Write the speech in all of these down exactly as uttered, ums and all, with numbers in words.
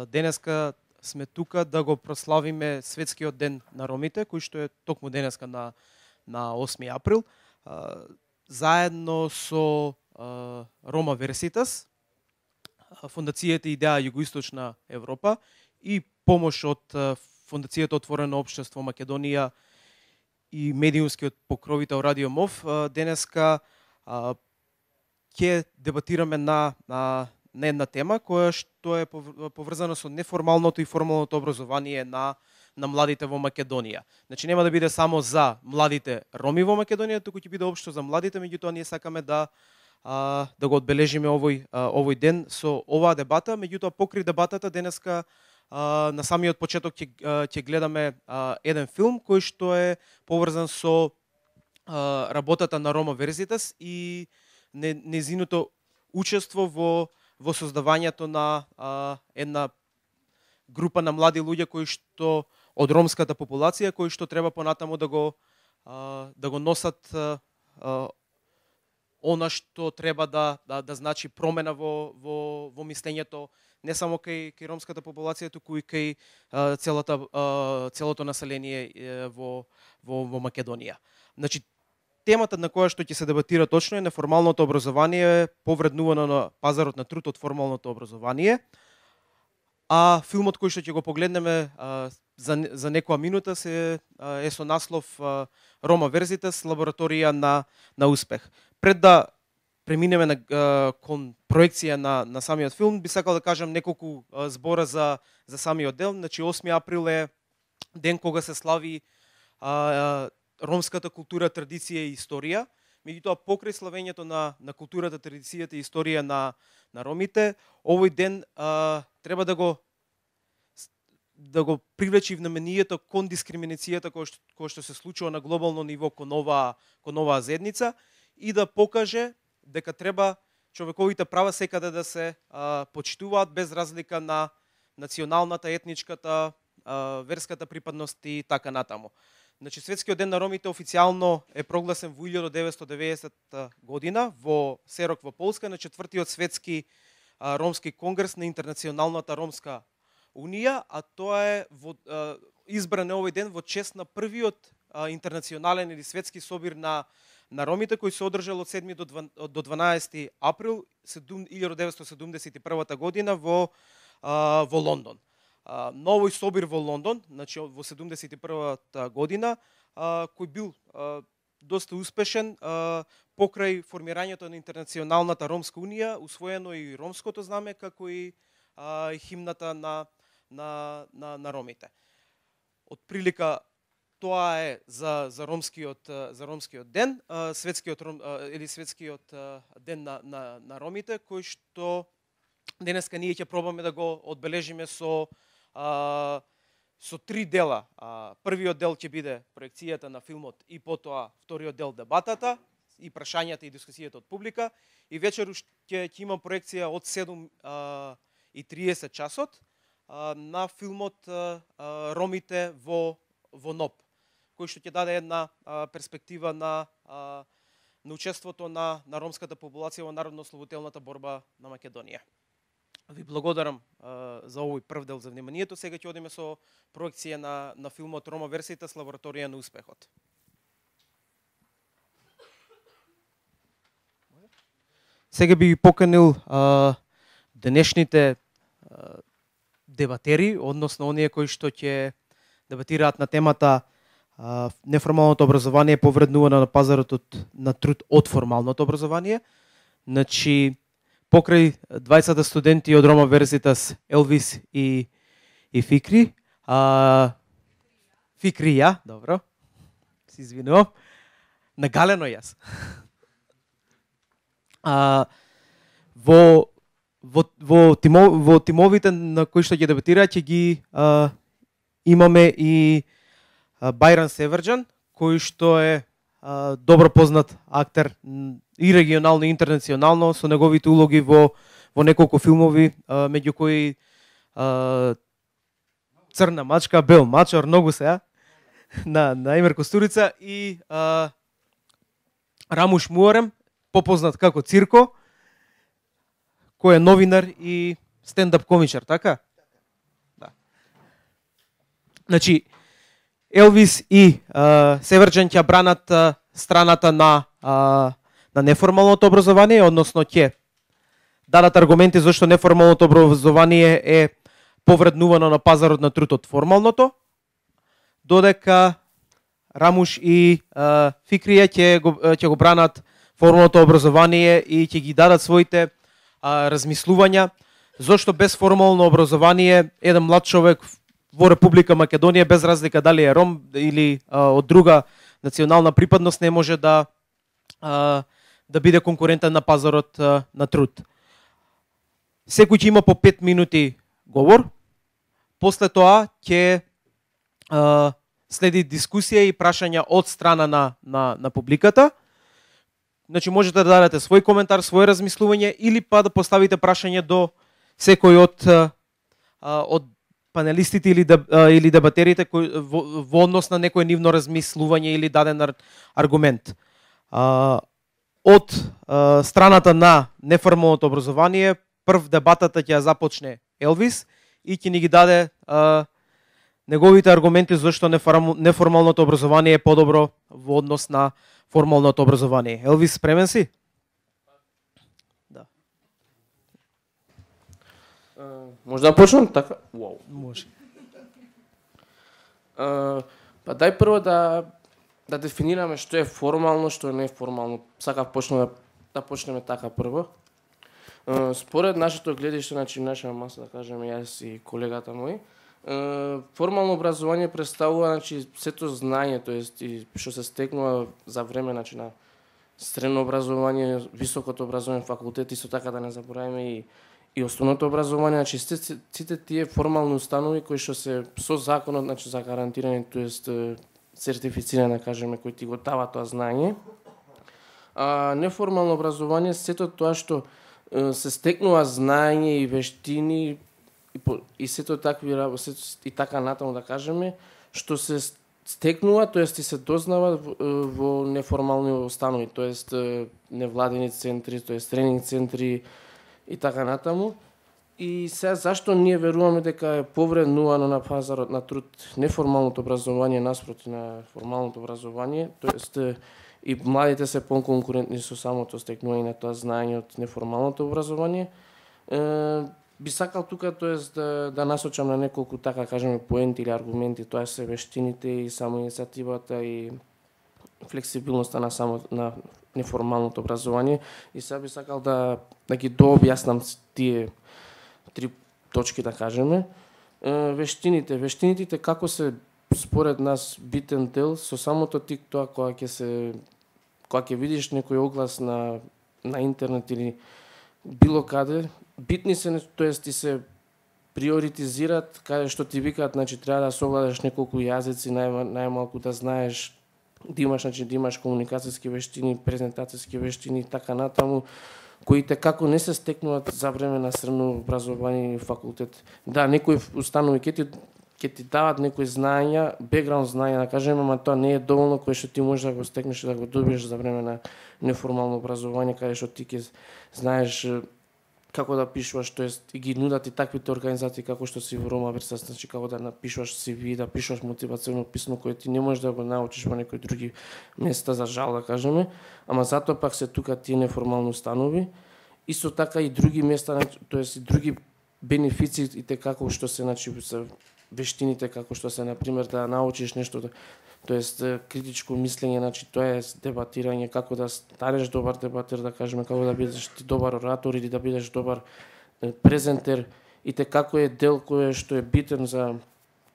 Денеска сме тука да го прославиме Светскиот ден на ромите, кој што е токму денеска на на осми април. Заедно со Рома Верситас, Фондацијата Идеја Југоисточна Европа и помош од Фондацијата Отворено општество Македонија и медиумскиот покровител Радио МОВ, денеска ќе дебатираме на, на, на една тема која што е поврзана со неформалното и формалното образование на на младите во Македонија. Значи нема да биде само за младите роми во Македонија, туку ќе биде општо за младите, меѓутоа ние сакаме да а, да го одбележиме овој а, овој ден со оваа дебата, меѓутоа покри дебатата денеска а, на самиот почеток ќе ќе гледаме а, еден филм кој што е поврзан со а, работата на Рома Верзитас и незиното учество во во создавањето на а, една група на млади луѓе кои што од ромската популација кои што треба понатаму да го а, да го носат а, а, она што треба да да, да значи промена во во во мислењето не само кај кај ромската популација, туку и кај а, целата а, целото население е, во во во Македонија. Значи темата на која што ќе се дебатира точно е неформалното образование повреднувано на пазарот на труд од формалното образование. А филмот кој што ќе го погледнеме а, за за некоја минута се а, е со наслов а, Рома Верзитас, лабораторија на на успех. Пред да преминеме на а, кон проекција на на самиот филм, би сакал да кажам неколку а, збора за за самиот дел. Значи осми април е ден кога се слави а, а, ромската култура, традиција и историја. Меѓутоа покрај славењето на на културата, традицијата и историја на на ромите, овој ден а, треба да го да го привлечи вниманието кон дискриминацијата која што, која што се случува на глобално ниво кон оваа кон оваа заедница и да покаже дека треба човековите права секаде да се а, почитуваат без разлика на националната, етничката, а, верската припадност и така натаму. Значи Светскиот ден на ромите официјално е прогласен во илјадесет деветстотини и деветдесета година во Серок во Полска на четвртиот светски а, ромски конгрес на Интернационалната ромска унија, а тоа е во, а, избран е овој ден во чест на првиот а, интернационален или светски собир на на ромите кој се одржал од седми до дванаесети април илјадесет деветстотини седумдесет и прва година во а, во Лондон. Uh, новој собир во Лондон, значи во седумдесет и првата година, uh, кој бил uh, доста успешен uh, покрај формирањето на Интернационалната ромска унија, усвоено и ромското знаме како и uh, химната на на на на ромите. Од прилика тоа е за за ромскиот за ромскиот ден, uh, светскиот uh, или светскиот uh, ден на на на ромите, кој што денеска ние ќе пробаме да го одбележиме со Uh, со три дела. Uh, првиот дел ќе биде проекцијата на филмот и потоа вториот дел дебатата и прашањата и дискусијата од публика и вечеру ќе ќе има проекција од седум и триесет часот uh, на филмот uh, uh, Ромите во во НОП, кој што ќе даде една uh, перспектива на uh, на учеството на на ромската популација во народно-ослободителната борба на Македонија. Ви благодарам а, за овој прв дел за вниманието. Сега ќе одиме со проекција на на филмот Рома Верзитас, лабораторија на успехот. Сега би ги поканил а, денешните а, дебатери, односно оние кои што ќе дебатираат на темата а, неформалното образование повреднувано на пазарот од, на труд од формалното образование. Значи покрај двајцата студенти од Рома Верзитас, Елвис и и Фикри, а Фикри ја, добро. Се извинувам. Нагалено јас. А во во во тимо, во тимовите на кои што ќе дебатираат ќе ги а, имаме и а, Бајран Севрџан, кој што е а, добро познат актер и регионално и интернационално со неговите улоги во во неколку филмови, а, меѓу кои а, Црна мачка, Бел мачор, многу се на на Емир Костурица и а, Рамуш Муарем, попознат како Цирко, кој е новинар и стендап комичар, така? Значи, Елвис и а, Северџан ќе бранат а, страната на а, на неформалното образование, односно ќе дадат аргументи зашто неформалното образование е повреднувано на пазарот на труд од формалното, додека Рамуш и а, Фикрија ќе го ќе го бранат формалното образование и ќе ги дадат своите а, размислувања зашто без формално образование еден млад човек во Република Македонија, без разлика дали е ром или а, од друга национална припадност, не може да а, да биде конкурентен на пазарот а, на труд. Секој ќе има по пет минути говор. После тоа ќе а, следи дискусија и прашања од страна на на на публиката. Значи можете да дадете свој коментар, своје размислување или па да поставите прашање до секој од а, од панелистите или деб, или дебатерите кои во, во однос на некој нивно размислување или даден ар, аргумент. А, од а, страната на неформалното образование, прв дебатата ќе ја започне Елвис и ќе ни ги даде а, неговите аргументи зашто неформалното образование е подобро во однос на формалното образование. Елвис, спремен си? Да. Uh, може да почнем така? Wow. Може. Uh, па дај прво да да дефинираме што е формално, што е неформално. Сакав почнеме да, да почнеме така прво. Uh, според нашето гледиште, значи наша маса, да кажеме јас и колегата мој, uh, формално образование представува, значи, сето знање, тоест и што се стекнува за време, значи, на средно образование, високото образование, факултет, исто така да не забораваме и и основното образование, значи сите, сите тие формални установи кои што се со законот, значи за гарантирање, тоест сертифицирање, да кажеме, кои ти го дава тоа знање. А неформално образование, сето тоа што се стекнува знање и вештини и, по, и сето такви и така натаму, да кажеме, што се стекнува, тоест и се дознава во, во неформални установи, тоест невладени центри, тоест тренинг центри и така натаму. И сега зашто ние веруваме дека е повреднувано на пазарот на труд неформалното образование наспроти на формалното образование, тоест и младите се поконкурентни со самото стекнување на тоа знаење од неформалното образование. Е, би сакал тука, тоест да, да насочам на неколку, така кажеме, поенти или аргументи, тоа се вештините и самоиницијативата и флексибилноста на само на неформалното образование. И сега би сакал да да ги дообјаснам тие три точки, да кажеме. Е, вештините, вештините како се според нас битен дел со самото тик тоа кога ќе се кога ќе видиш некој оглас на на интернет или било каде, битни се, тоест ти се приоритизираат каде што ти викаат, значи треба да совладаш неколку јазици, нај, најмалку да знаеш, да имаш, значи да имаш комуникацијски вештини, презентацијски вештини и така натаму, кои те како не се стекнуваат за време на средно образование и факултет. Да, некои установи ќе ти ќе ти дават некои знаења, бекграунд знаења, да кажеме, ама тоа не е доволно кое што ти можеш да го стекнеш и да го добиеш за време на неформално образование, каде што ти ќе знаеш како да пишуваш, тоест и ги нудат и таквите организации како што си во Рома Версас, значи како да напишуваш си ви, да пишуваш мотивационо писмо кое ти не можеш да го научиш во некои други места, за жал, да кажеме, ама затоа пак се тука тие неформални установи. Исто така и други места, тоест и други бенефиции и како што се, значи, вештините, како што се, например, да научиш нешто, тоест критичко мислење, значи тоа е дебатирање, како да станеш добар дебатер, да кажеме, како да бидеш ти добар оратор или да бидеш добар презентер, и те како е дел кој што е битен за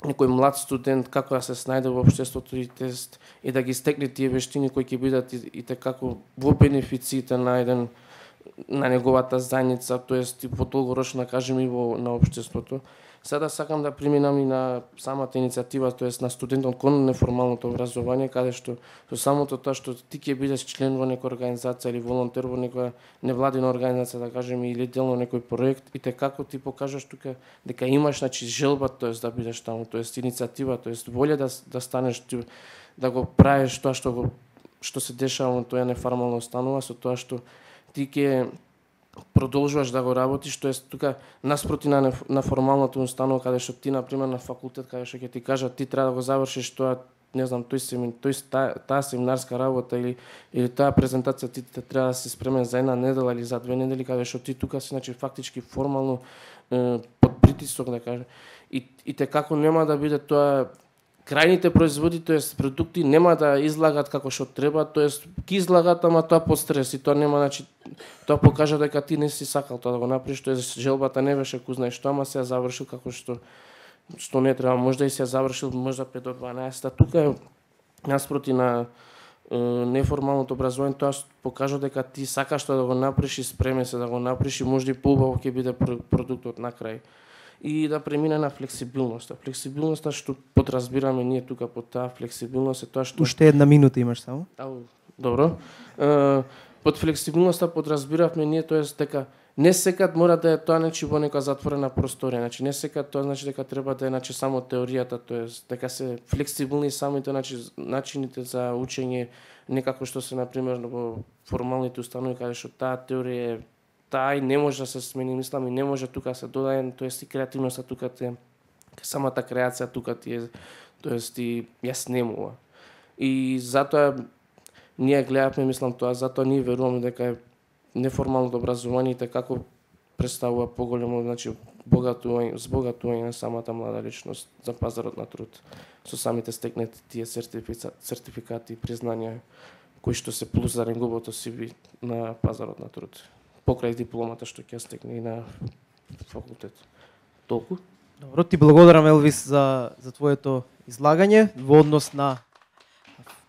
некој млад студент, како да се снајде во општеството и тест и да ги стекне тие вештини кои ќе бидат и, и те како во бенефициите на еден на неговата заедница, тоест и по долгорочно, да кажеме, и во на општеството. Сега сакам да преминам и на самата иницијатива, тоест на студентот кон неформалното образование, каде што со самото тоа што ти ќе бидеш член во некоја организација или волонтер во некоја невладина организација, да кажеме, или дел на некој проект, и те како ти покажаш тука дека имаш, значи, желба, тоест да бидеш таму, тоест иницијатива, тоест волја да да станеш ти, да го правиш тоа што го што се дешава во тоа неформална установа, со тоа што ти ќе продолжуваш да го работиш, тоест тука наспроти на на формалната установа каде што ти на пример на факултет каде што ќе ти кажат ти треба да го завршиш тоа, не знам, тој семин, тој таа, таа семинарска работа или или таа презентација ти треба да си спремен за една недела или за две недели, каде што ти тука си значи фактички формално е, под притисок да кажа. И и те како нема да биде тоа крајните производи, тоест продукти нема да излагат како што треба, тоест ќе излагат, ама тоа под стрес и тоа нема, значи тоа покажа дека ти не си сакал тоа да го направиш, тоест желбата не беше ку знаеш што, ама се ја завршил како што што не треба, можда и се ја завршил можда пет до дванаесет, тука наспроти на е, неформалното образование тоа покажа дека ти сакаш тоа да го направиш и спремен се да го направиш и можда и поубаво ќе биде продуктот на крај. И да премине на флексибилноста. Флексибилноста што подразбираме ние тука под таа флексибилност е тоа што Уште една минута имаш само. Ау, добро. Е, под флексибилноста подразбиравме ние тоест дека не секад мора да е тоа значи во нека затворена просторија, значи не секад тоа значи дека треба да е значи само теоријата, тоест дека се флексибилни самите значи начините за учење, некако што се на пример во формалните установи каде што таа теорија е таа и не може да се смени, мислам и не може тука се додаде, тоест и креативноста тука те самата креација тука ти е, тоест и ја снемува. И затоа ние гледавме, мислам тоа, затоа ние веруваме дека е неформалното образование како представува поголемо, значи богатување, збогатување на самата млада личност за пазарот на труд со самите стекнати тие сертификати и признања кои што се плюс за неговото си ви на пазарот на труд. Покрај дипломата што ќе стекне и на факултет. Толку? Добро, ти благодарам Елвис за за твоето излагање во однос на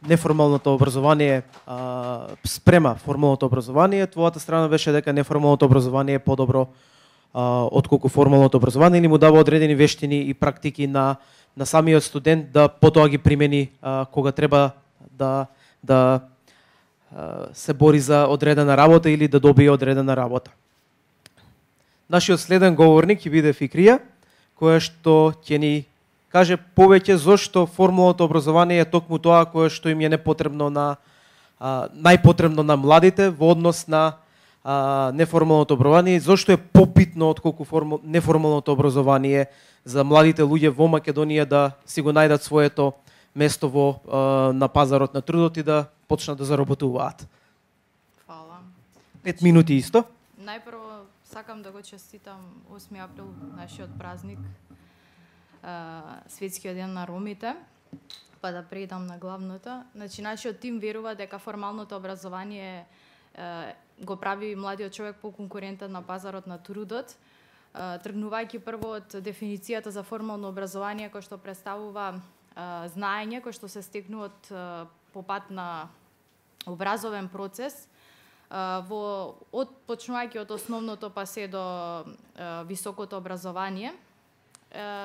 неформалното образование а, спрема формалното образование. Твојата страна беше дека неформалното образование е подобро а, отколку формалното образование или му дава одредени вештини и практики на на самиот студент да потоа ги примени а, кога треба да да а, се бори за одредена работа или да добие одредена работа. Нашиот следен говорник ќе биде Фикрија, која што ќе ни каже повеќе зошто формалното образование е токму тоа кое што им е непотребно на а, најпотребно на младите во однос на а, неформалното образование, зошто е побитно отколку формал, неформалното образование за младите луѓе во Македонија да си го најдат своето место во а, на пазарот на трудот и да почнат да заработуваат. Фала. Пет минути исто. Најпрво сакам да го честитам осми април, нашиот празник, Светскиот ден на ромите, па да преидам на главното. Значи, нашиот тим верува дека формалното образование е, го прави младиот човек поконкурентен на пазарот на трудот, е, тргнувајќи прво од дефиницијата за формално образование кој што представува е, знаење кој што се стекнува од е, по пат на образовен процес, во од почнувајќи од основното па се до е, високото образование,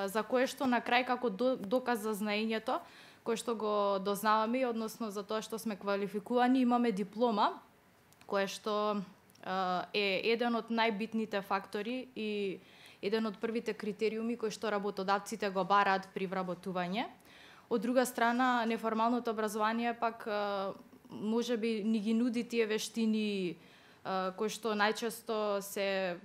за кое што на крај како доказ за знаењето, кој што го дознаваме, односно за тоа што сме квалификувани, имаме диплома, која што е еден од најбитните фактори и еден од првите критериуми кои што работодавците го бараат при вработување. Од друга страна, неформалното образование пак може би ни ги нуди тие вештини кои што најчесто се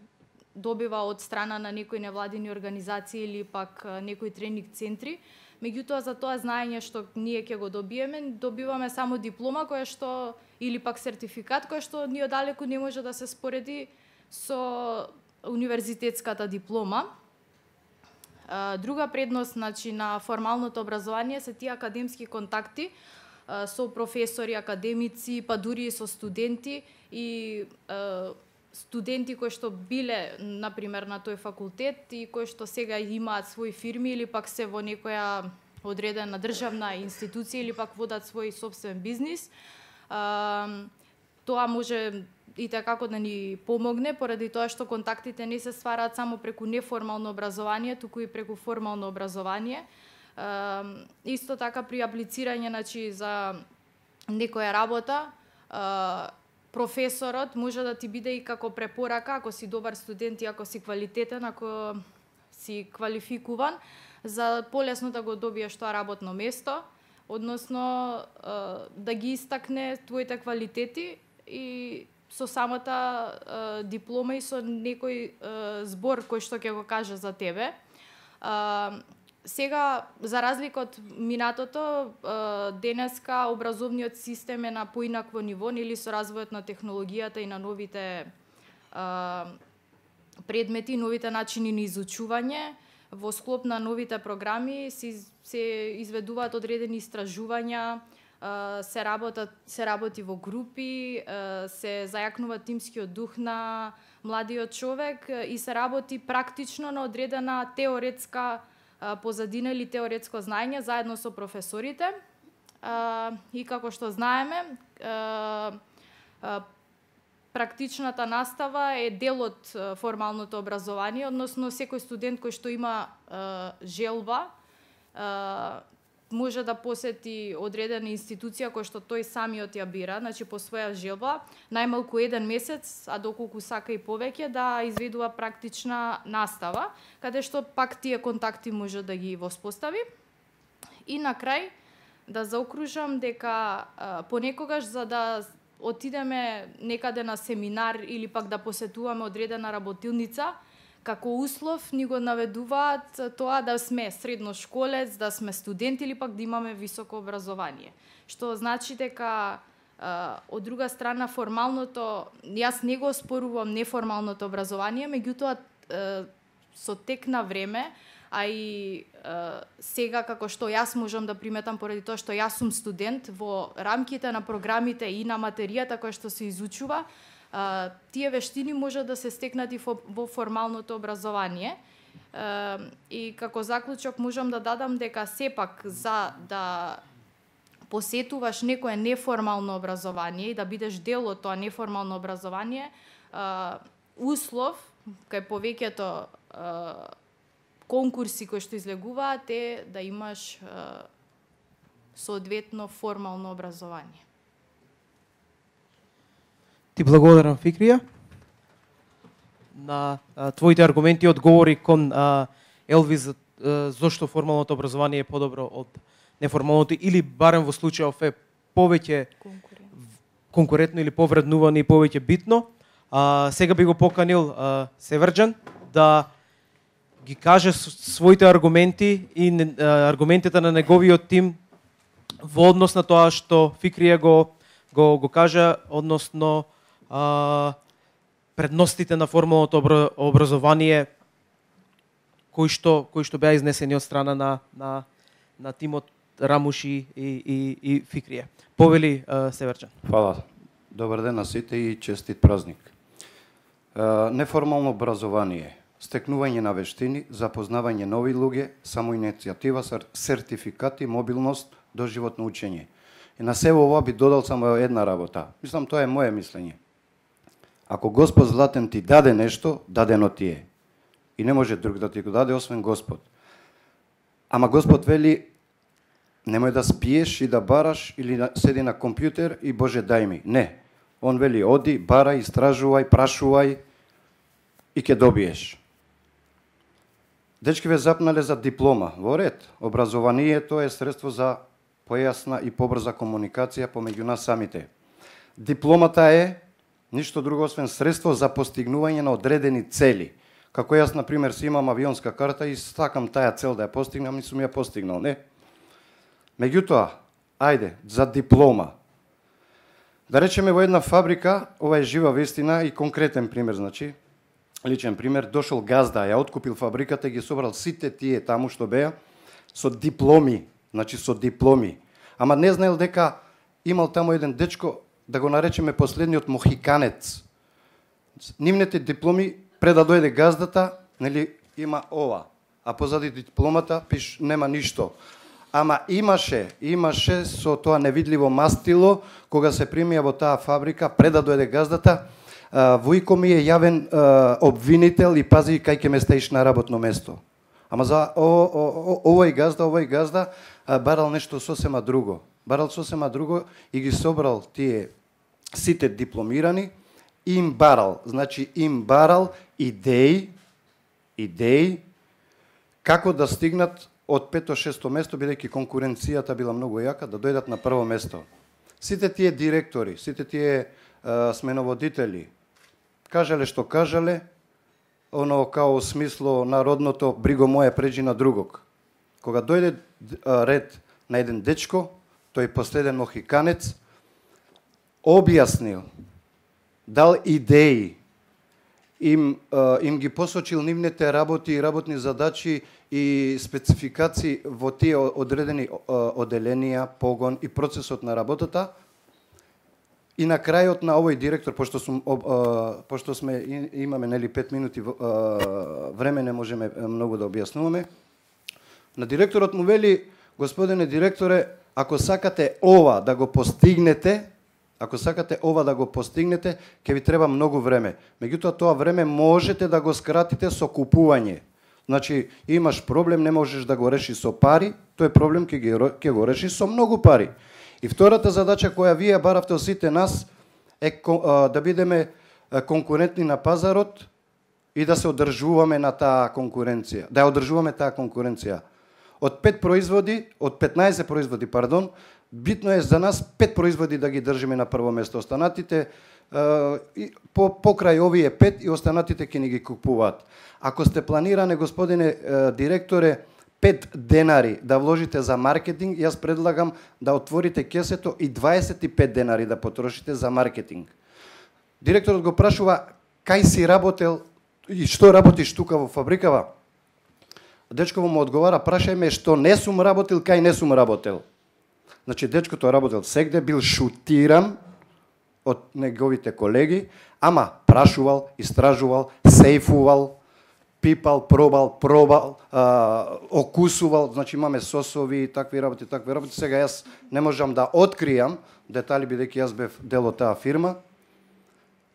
добива од страна на некои невладини организации или пак некои тренинг центри. Меѓутоа за тоа знаење што ние ќе го добиеме, добиваме само диплома која што или пак сертификат кој што ни одалеку не може да се спореди со универзитетската диплома. Друга предност, значи, на формалното образование се тие академски контакти со професори, академици, па дури и со студенти и студенти кои што биле, например, на тој факултет и кои што сега имаат своји фирми или пак се во некоја одредена државна институција или пак водат свој собствен бизнис. А, тоа може и такако да ни помогне, поради тоа што контактите не се ствараат само преку неформално образование, туку и преку формално образование. А, исто така при аплицирање, значи, за некоја работа, а, професорот може да ти биде и како препорака, ако си добар студент и ако си квалитетен, ако си квалификуван, за полесно да го добиеш тоа работно место, односно да ги истакне твоите квалитети и со самата е, диплома и со некој е, збор кој што ќе го каже за тебе. Е, сега, за разлика од минатото, е, денеска образовниот систем е на поинакво ниво, нели со развојот на технологијата и на новите е, предмети, новите начини на изучување. Во склоп на новите програми се, се изведуваат одредени истражувања, се работат, се работи во групи, се зајакнува тимскиот дух на младиот човек и се работи практично на одредена теоретска позадина или теоретско знаење заедно со професорите. И како што знаеме, практичната настава е дел од формалното образование, односно секој студент кој што има е, желба е, може да посети одредена институција кој што тој самиот ја бира, значи по своја желба, најмалку еден месец, а доколку сака и повеќе, да изведува практична настава, каде што пак тие контакти може да ги воспостави. И на крај да заокружам дека е, понекогаш за да отидеме некаде на семинар или пак да посетуваме одредена работилница, како услов ни го наведуваат тоа да сме средношколец, да сме студент или пак да имаме високо образование. Што значи дека од друга страна формалното, јас не го спорувам неформалното образование, меѓутоа со тек на време, а и е, сега како што јас можам да приметам поради тоа што јас сум студент во рамките на програмите и на материјата која што се изучува, е, тие вештини може да се стекнат и во, во формалното образование. Е, и како заклучок можам да дадам дека сепак за да посетуваш некое неформално образование и да бидеш дел од тоа неформално образование, е, услов кај повеќето е, конкурси кои што излегуваат е да имаш е, соодветно формално образование. Ти благодарам, Фикрија. На а, твоите аргументи одговори кон а, Елвис а, зошто формалното образование е подобро од неформалното или барем во случајов е повеќе конкурентно или повреднувано и повеќе битно. А, сега би го поканил а, Севрџан да ги каже своите аргументи и а, аргументите на неговиот тим во однос на тоа што Фикрија го го го кажа, односно а, предностите на формалното образование кои што кои што беа изнесени од страна на на на тимот Рамуши и и и Фикрија. Повели а, Севрџан. Фала. Добар ден на сите и честит празник. А, неформално образование, стекнување на вештини, запознавање нови луѓе, самоиницијатива, сертификати, мобилност, доживотно учење. И на себе ова би додал само една работа. Мислам, тоа е моје мислење. Ако Господ златен ти даде нешто, дадено ти е. И не може друг да ти го даде, освен Господ. Ама Господ вели, немој да спиеш и да бараш или седи на компјутер и Боже дај ми. Не. Он вели, оди, барај, истражувај, прашувај и ќе добиеш. Дечки ве запнале за диплома. Во ред, образованието е средство за појасна и побрза комуникација помеѓу нас самите. Дипломата е ништо друго освен средство за постигнување на одредени цели. Како јас, например, си имам авионска карта и сакам таа цел да ја постигнам, и сум ја постигнал, не? Меѓутоа, ајде, за диплома. Да речеме во една фабрика, ова е жива вестина и конкретен пример, значи, личен пример, дошол газда, ја откупил фабриката и ги собрал сите тие таму што беа со дипломи, значи со дипломи. Ама не знаел дека имал таму еден дечко, да го наречеме последниот мохиканец. Нивните дипломи, пред да дојде газдата, нели, има ова, а позади дипломата пиш нема ништо. Ама имаше, имаше со тоа невидливо мастило, кога се примија во таа фабрика, пред да дојде газдата, Војко ми е јавен а, обвинител и пази кај ќе ме стаиш на работно место. Ама за о, о, о, овој газда, овој газда а, барал нешто сосема друго. Барал сосема друго и ги собрал тие сите дипломирани, им барал, значи им барал идеи, идеи како да стигнат од пето-шесто место, бидејќи конкуренцијата била многу јака, да дојдат на прво место. Сите тие директори, сите тие сменоводители. Кажале што кажале, оно као смисло народното бриго моје преđи на другог. Кога дојде ред на еден дечко, тој последен мохиканец, објаснил, дал идеи, им, им ги посочил нивните работи и работни задачи и спецификации во тие одредени оделенија, погон и процесот на работата. И на крајот на овој директор, пошто, сум, пошто сме имаме нели пет минути време, не можеме многу да објаснуваме, на директорот му вели: господине директоре, ако сакате ова да го постигнете, ако сакате ова да го постигнете, ќе ви треба многу време. Меѓутоа тоа време можете да го скратите со купување. Значи, имаш проблем, не можеш да го решиш со пари, тој проблем ќе, ги, ќе го решиш со многу пари. И втората задача која вие баравте од сите нас е да бидеме конкурентни на пазарот и да се одржуваме на таа конкуренција, да ја одржуваме таа конкуренција. Од пет производи, од петнаесет производи, пардон, битно е за нас пет производи да ги држиме на прво место. Останатите по покрај овие пет и останатите ќе ни ги купуваат. Ако сте планиране, господине директоре, пет денари да вложите за маркетинг, јас предлагам да отворите кесето и дваесет и пет денари да потрошите за маркетинг. Директорот го прашува: кај си работел и што работиш тука во фабрикава? Дечково му одговара: прашај ме што не сум работил, кај не сум работел. Значи, дечкото работел сегде, бил шутиран од неговите колеги, ама прашувал, истражувал, сейфувал, пипал, пробал, пробал, а, окусувал, значи имаме сосови, такви работи, такви работи. Сега јас не можам да откријам детали, бидејќи јас бев дел од таа фирма.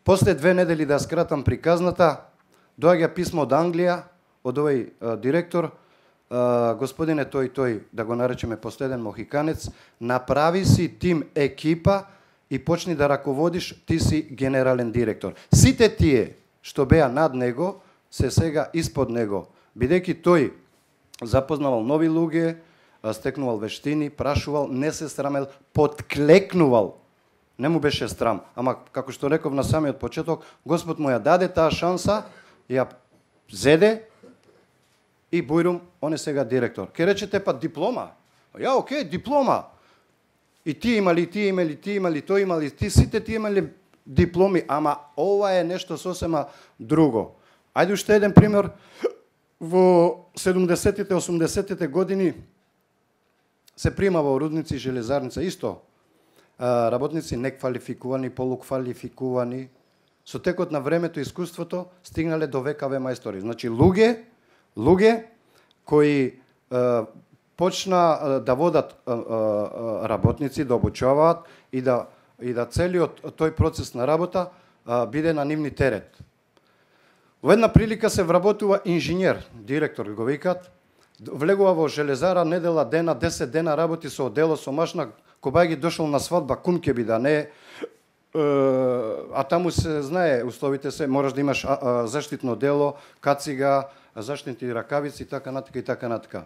После две недели, да скратам приказната, доаѓа писмо од Англија, од овој а, директор: а, господине тој тој, да го наречеме последен мохиканец, направи си тим екипа и почни да раководиш, ти си генерален директор. Сите тие што беа над него се сега испод него, бидејќи тој запознавал нови луѓе, стекнувал вештини, прашувал, не се срамел, подклекнувал. Не му беше страм, ама како што реков на самиот почеток, Господ му ја даде таа шанса, ја зеде и бујрум, он е сега директор. Ке речете, па диплома. Ја, окей, диплома. И ти имали, ти имали, ти имали, тој имали, ти сите ти имали дипломи, ама ова е нешто сосема друго. Ајде уште еден пример. Во седумдесетите, осумдесетите години се прима во рудници и железарница исто работници неквалификувани, полуквалификувани. Со текот на времето и искуството стигнале до ВКВ мајстори. Значи луѓе, луѓе кои е, почна да водат е, е, работници, да обучаваат и да и да целиот тој процес на работа е, биде на нивни терет. Во една прилика се вработува инженер, директор го викаат, влегува во железара, недела дена, десет дена работи со одело, со машина, кога ги дошол на свадба, кум ќе би да не, а таму се знае, условите се, мораш да имаш заштитно дело, кацига, заштитни ракавици, така натака и така натака.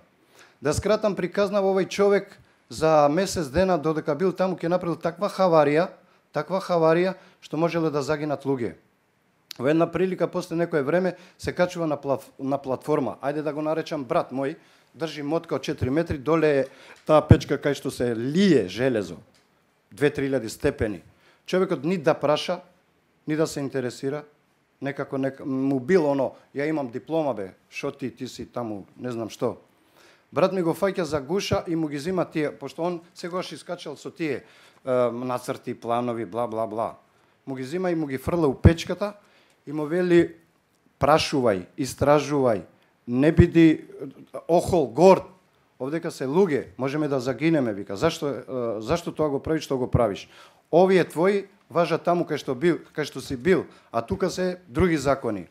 Да скратам приказна, овој човек за месец дена, додека бил таму, ќе направил таква хаварија, таква хаварија, што можеле да загинат луѓе. Во една прилика, после некое време, се качува на, плат, на платформа. Ајде да го наречам брат мој, држи мотка од четири метри, доле е таа печка кај што се лие железо. две-три илјади степени. Човекот ни да праша, ни да се интересира, некако нека, му бил оно, ја имам диплома бе, шо ти, ти си таму, не знам што. Брат ми го фаќа за гуша и му ги зима тие, пошто он сегаш искачал со тие е, нацрти, планови, бла, бла, бла. Му ги зима и му ги фрла у печката, и му вели, прашувај, истражувај, не биди охол, горд. Овдека се луѓе, можеме да загинеме, вика. Зашто, зашто тоа го правиш, што го правиш? Овие твои важат таму кај што бил, кај што си бил, а тука се други закони.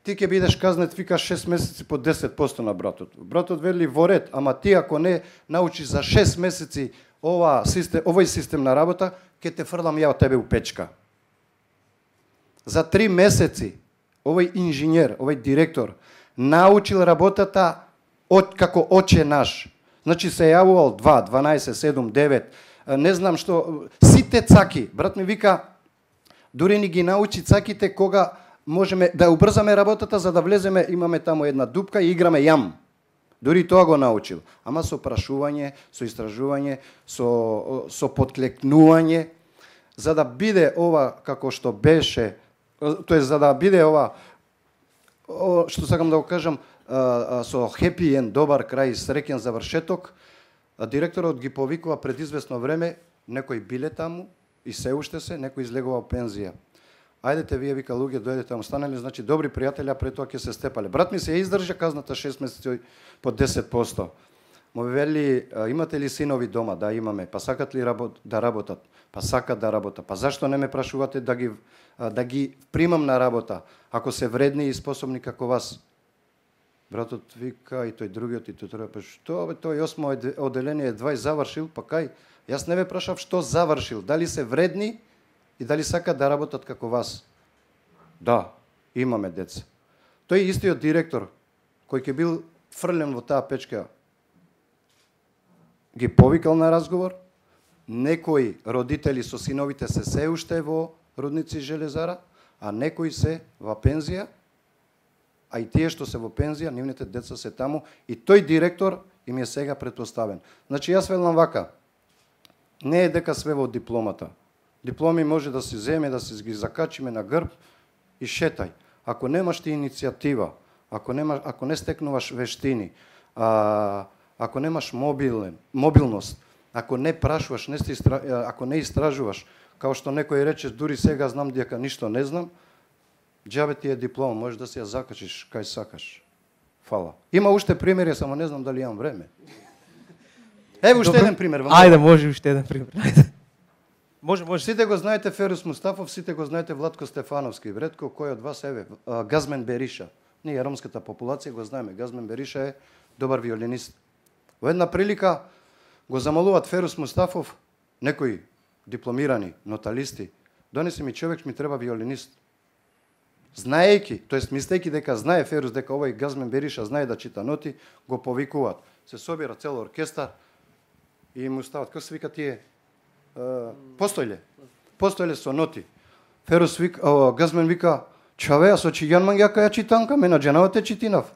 Ти ќе бидеш казнет, вика, шест месеци по десет проценти на братот. Братот вели во ред, ама ти ако не научиш за шест месеци ова систем, овој систем на работа, ќе те фрлам ја од тебе у печка. За три месеци овој инженер, овој директор научил работата од како оче наш. Значи се јавувал два, дванаесет, седум, девет, не знам што, сите цаки. Брат ми вика, Дури ни ги научи цаките кога можеме да убрзаме работата за да влеземе, имаме таму една дупка и играме јам. Дури тоа го научил. Ама со прашување, со истражување, со, со подклекнување, за да биде ова како што беше, тоа за да биде ова, што сакам да го кажам, со хепи енд, добар крај, среќен завршеток, директорот ги повикува пред известно време, некои биле таму и се уште се, некои излегува пензија. Ајдете вие, вика, луѓе, дојдете таму, станале, значи добри пријатели, а пред тоа ќе се степале. Брат ми се издржа казната шест месеци по десет посто. Му вели, имате ли синови дома? Да, имаме. Па сакат ли работ, да работат? Па сакат да работат. Па зашто не ме прашувате да ги, да ги примам на работа, ако се вредни и способни како вас? Братот вика и тој другиот и тој трој, па што бе, тој осмо оделение едва завршил, па кај? Јас не ве прашав што завршил, дали се вредни и дали сакат да работат како вас. Да, имаме деца. Тој истиот директор, кој ќе бил фрлен во таа печка, ги повикал на разговор, некои родители со синовите се се уште во Рудници Железара, а некои се во пензија, а и тие што се во пензија, нивните деца се таму, и тој директор им е сега претпоставен. Значи, јас велам вака, не е дека све во дипломата. Дипломи може да се земе, да се ги закачиме на грб и шетај. Ако немаш ти иницијатива, ако, нема, ако не стекнуваш вештини, а, ако немаш мобилен, мобилност, ако не прашуваш, не сте истра, ако не истражуваш, као што некој рече, дури сега знам дека ништо не знам, џабе ти е диплома, можеш да се ја закачиш кај сакаш. Фала. Има уште примери, само не знам дали имам време. Ево уште еден пример. Ајде, може уште еден пример. Ајде. Може, може. Сите го знаете Ферус Мустафов, сите го знаете Владко Стефановски. Ретко кој од вас еве, Газмен Бериша. Ние ромската популација го знаеме. Газмен Бериша е добар виолинист. Во една прилика го замолуваат Ферус Мустафов, некои дипломирани ноталисти, донеси ми човек, ми треба виолинист. Знаејќи, тоест мислејќи дека знае Ферус дека овој Газмен Бериша знае да чита ноти, го повикуваат. Се собира цел оркестар и му стават, како се вика тие, Uh, постојле. Постојле со ноти. Ферус вика, uh, Газмен вика, чаве, а со чијан мангјака ја читанка, ме на джанавате читинав.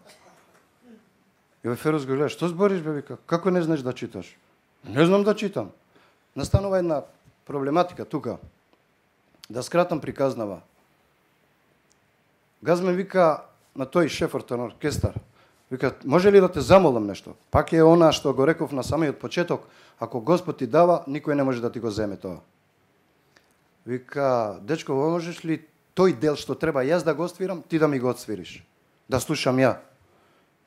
И бе Ферус го гледа, што збориш бе, вика, како не знаеш да читаш? Не знам да читам. Настанува една проблематика тука. Да скратам приказнава. Газмен вика на тој шефот на оркестар, вика, може ли да те замолам нешто? Пак е она што го реков на самиот почеток, ако Господ ти дава, никој не може да ти го земе тоа. Вика, дечко, можеш ли тој дел што треба јас да го отсвирам, ти да ми го отсвириш? Да слушам ја.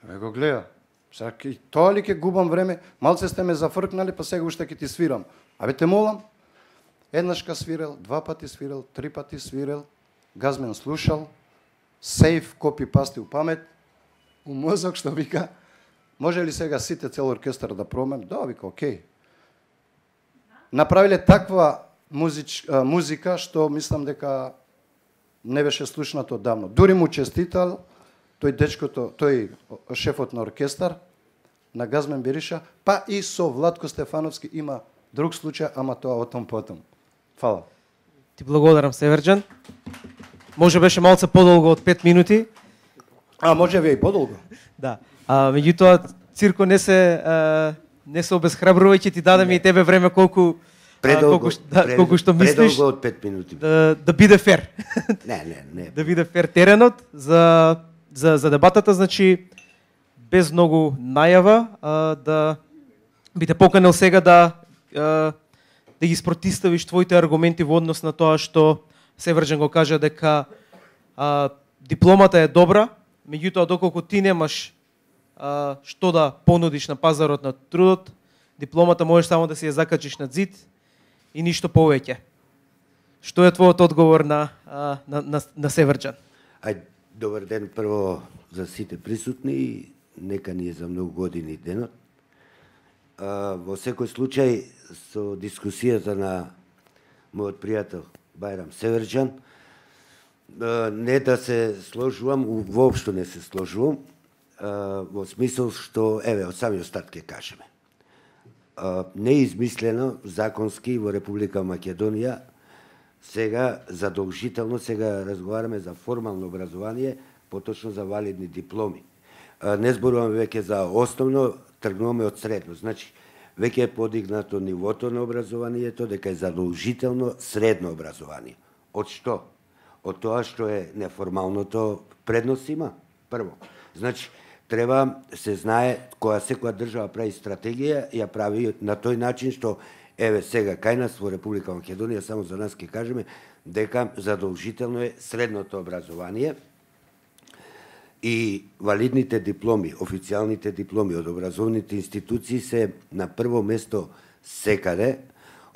Ве го гледа. Сега тоа ли ќе губам време? Малце сте ме зафркнали, па сега уште ќе ти свирам. Абе те молам. Еднашка свирел, два пати свирел, три пати свирел. Газмен слушал. Сейф, копи, пасти у памет. У мозок што вика, може ли сега сите цел оркестар да промем? Да, вика, окей. Направиле таква музич, а, музика што мислам дека не беше слушнато давно. Дури му честитал тој дечкото, тој шефот на оркестар на Газмен Бериша, па и со Владко Стефановски има друг случај, ама тоа отом потом. Фала. Ти благодарам, Северџан. Може беше малце подолго од пет минути. А, може ви и подолго. Да. А, меѓутоа, Цирко не се а, не се обезхрабрувајќи, ти дадеме и тебе време колку предолго, колку, да, пред, колку што мислиш. Предолго од пет минути. Да, да биде фер. Не, не, не. Да биде фер теренот за за за дебатата, значи без многу најава, а, да би те поканил сега да а, да ги спротиставиш твоите аргументи во однос на тоа што Северџан го кажа дека а, дипломата е добра, меѓутоа доколку ти немаш а, што да понудиш на пазарот на трудот, дипломата можеш само да си ја закачиш на зид и ништо повеќе. Што е твојот одговор на а, на на, на Северџан? Ај, добар ден прво за сите присутни, нека ни е за многу години денот. А, во секој случај, со дискусијата на мојот пријател Бајрам Северџан, а, не да се сложувам, воопшто не се сложувам, а, во смисол што, еве, од самиот старт ќе кажеме. А, не е измислено законски во Република Македонија сега задолжително, сега разговараме за формално образование, поточно за валидни дипломи. Не зборуваме веќе за основно, тргнуваме од средно. Значи, веќе е подигнато нивото на образованието, дека е задолжително средно образование. Од што? Од тоа што е неформалното предност има, прво. Значи, треба се знае, кога секоја држава прави стратегија, ја прави на тој начин што, еве сега, кај нас во Република Македонија, само за нас ќе кажеме, дека задолжително е средното образование и валидните дипломи, официјалните дипломи од образовните институции се на прво место секаде,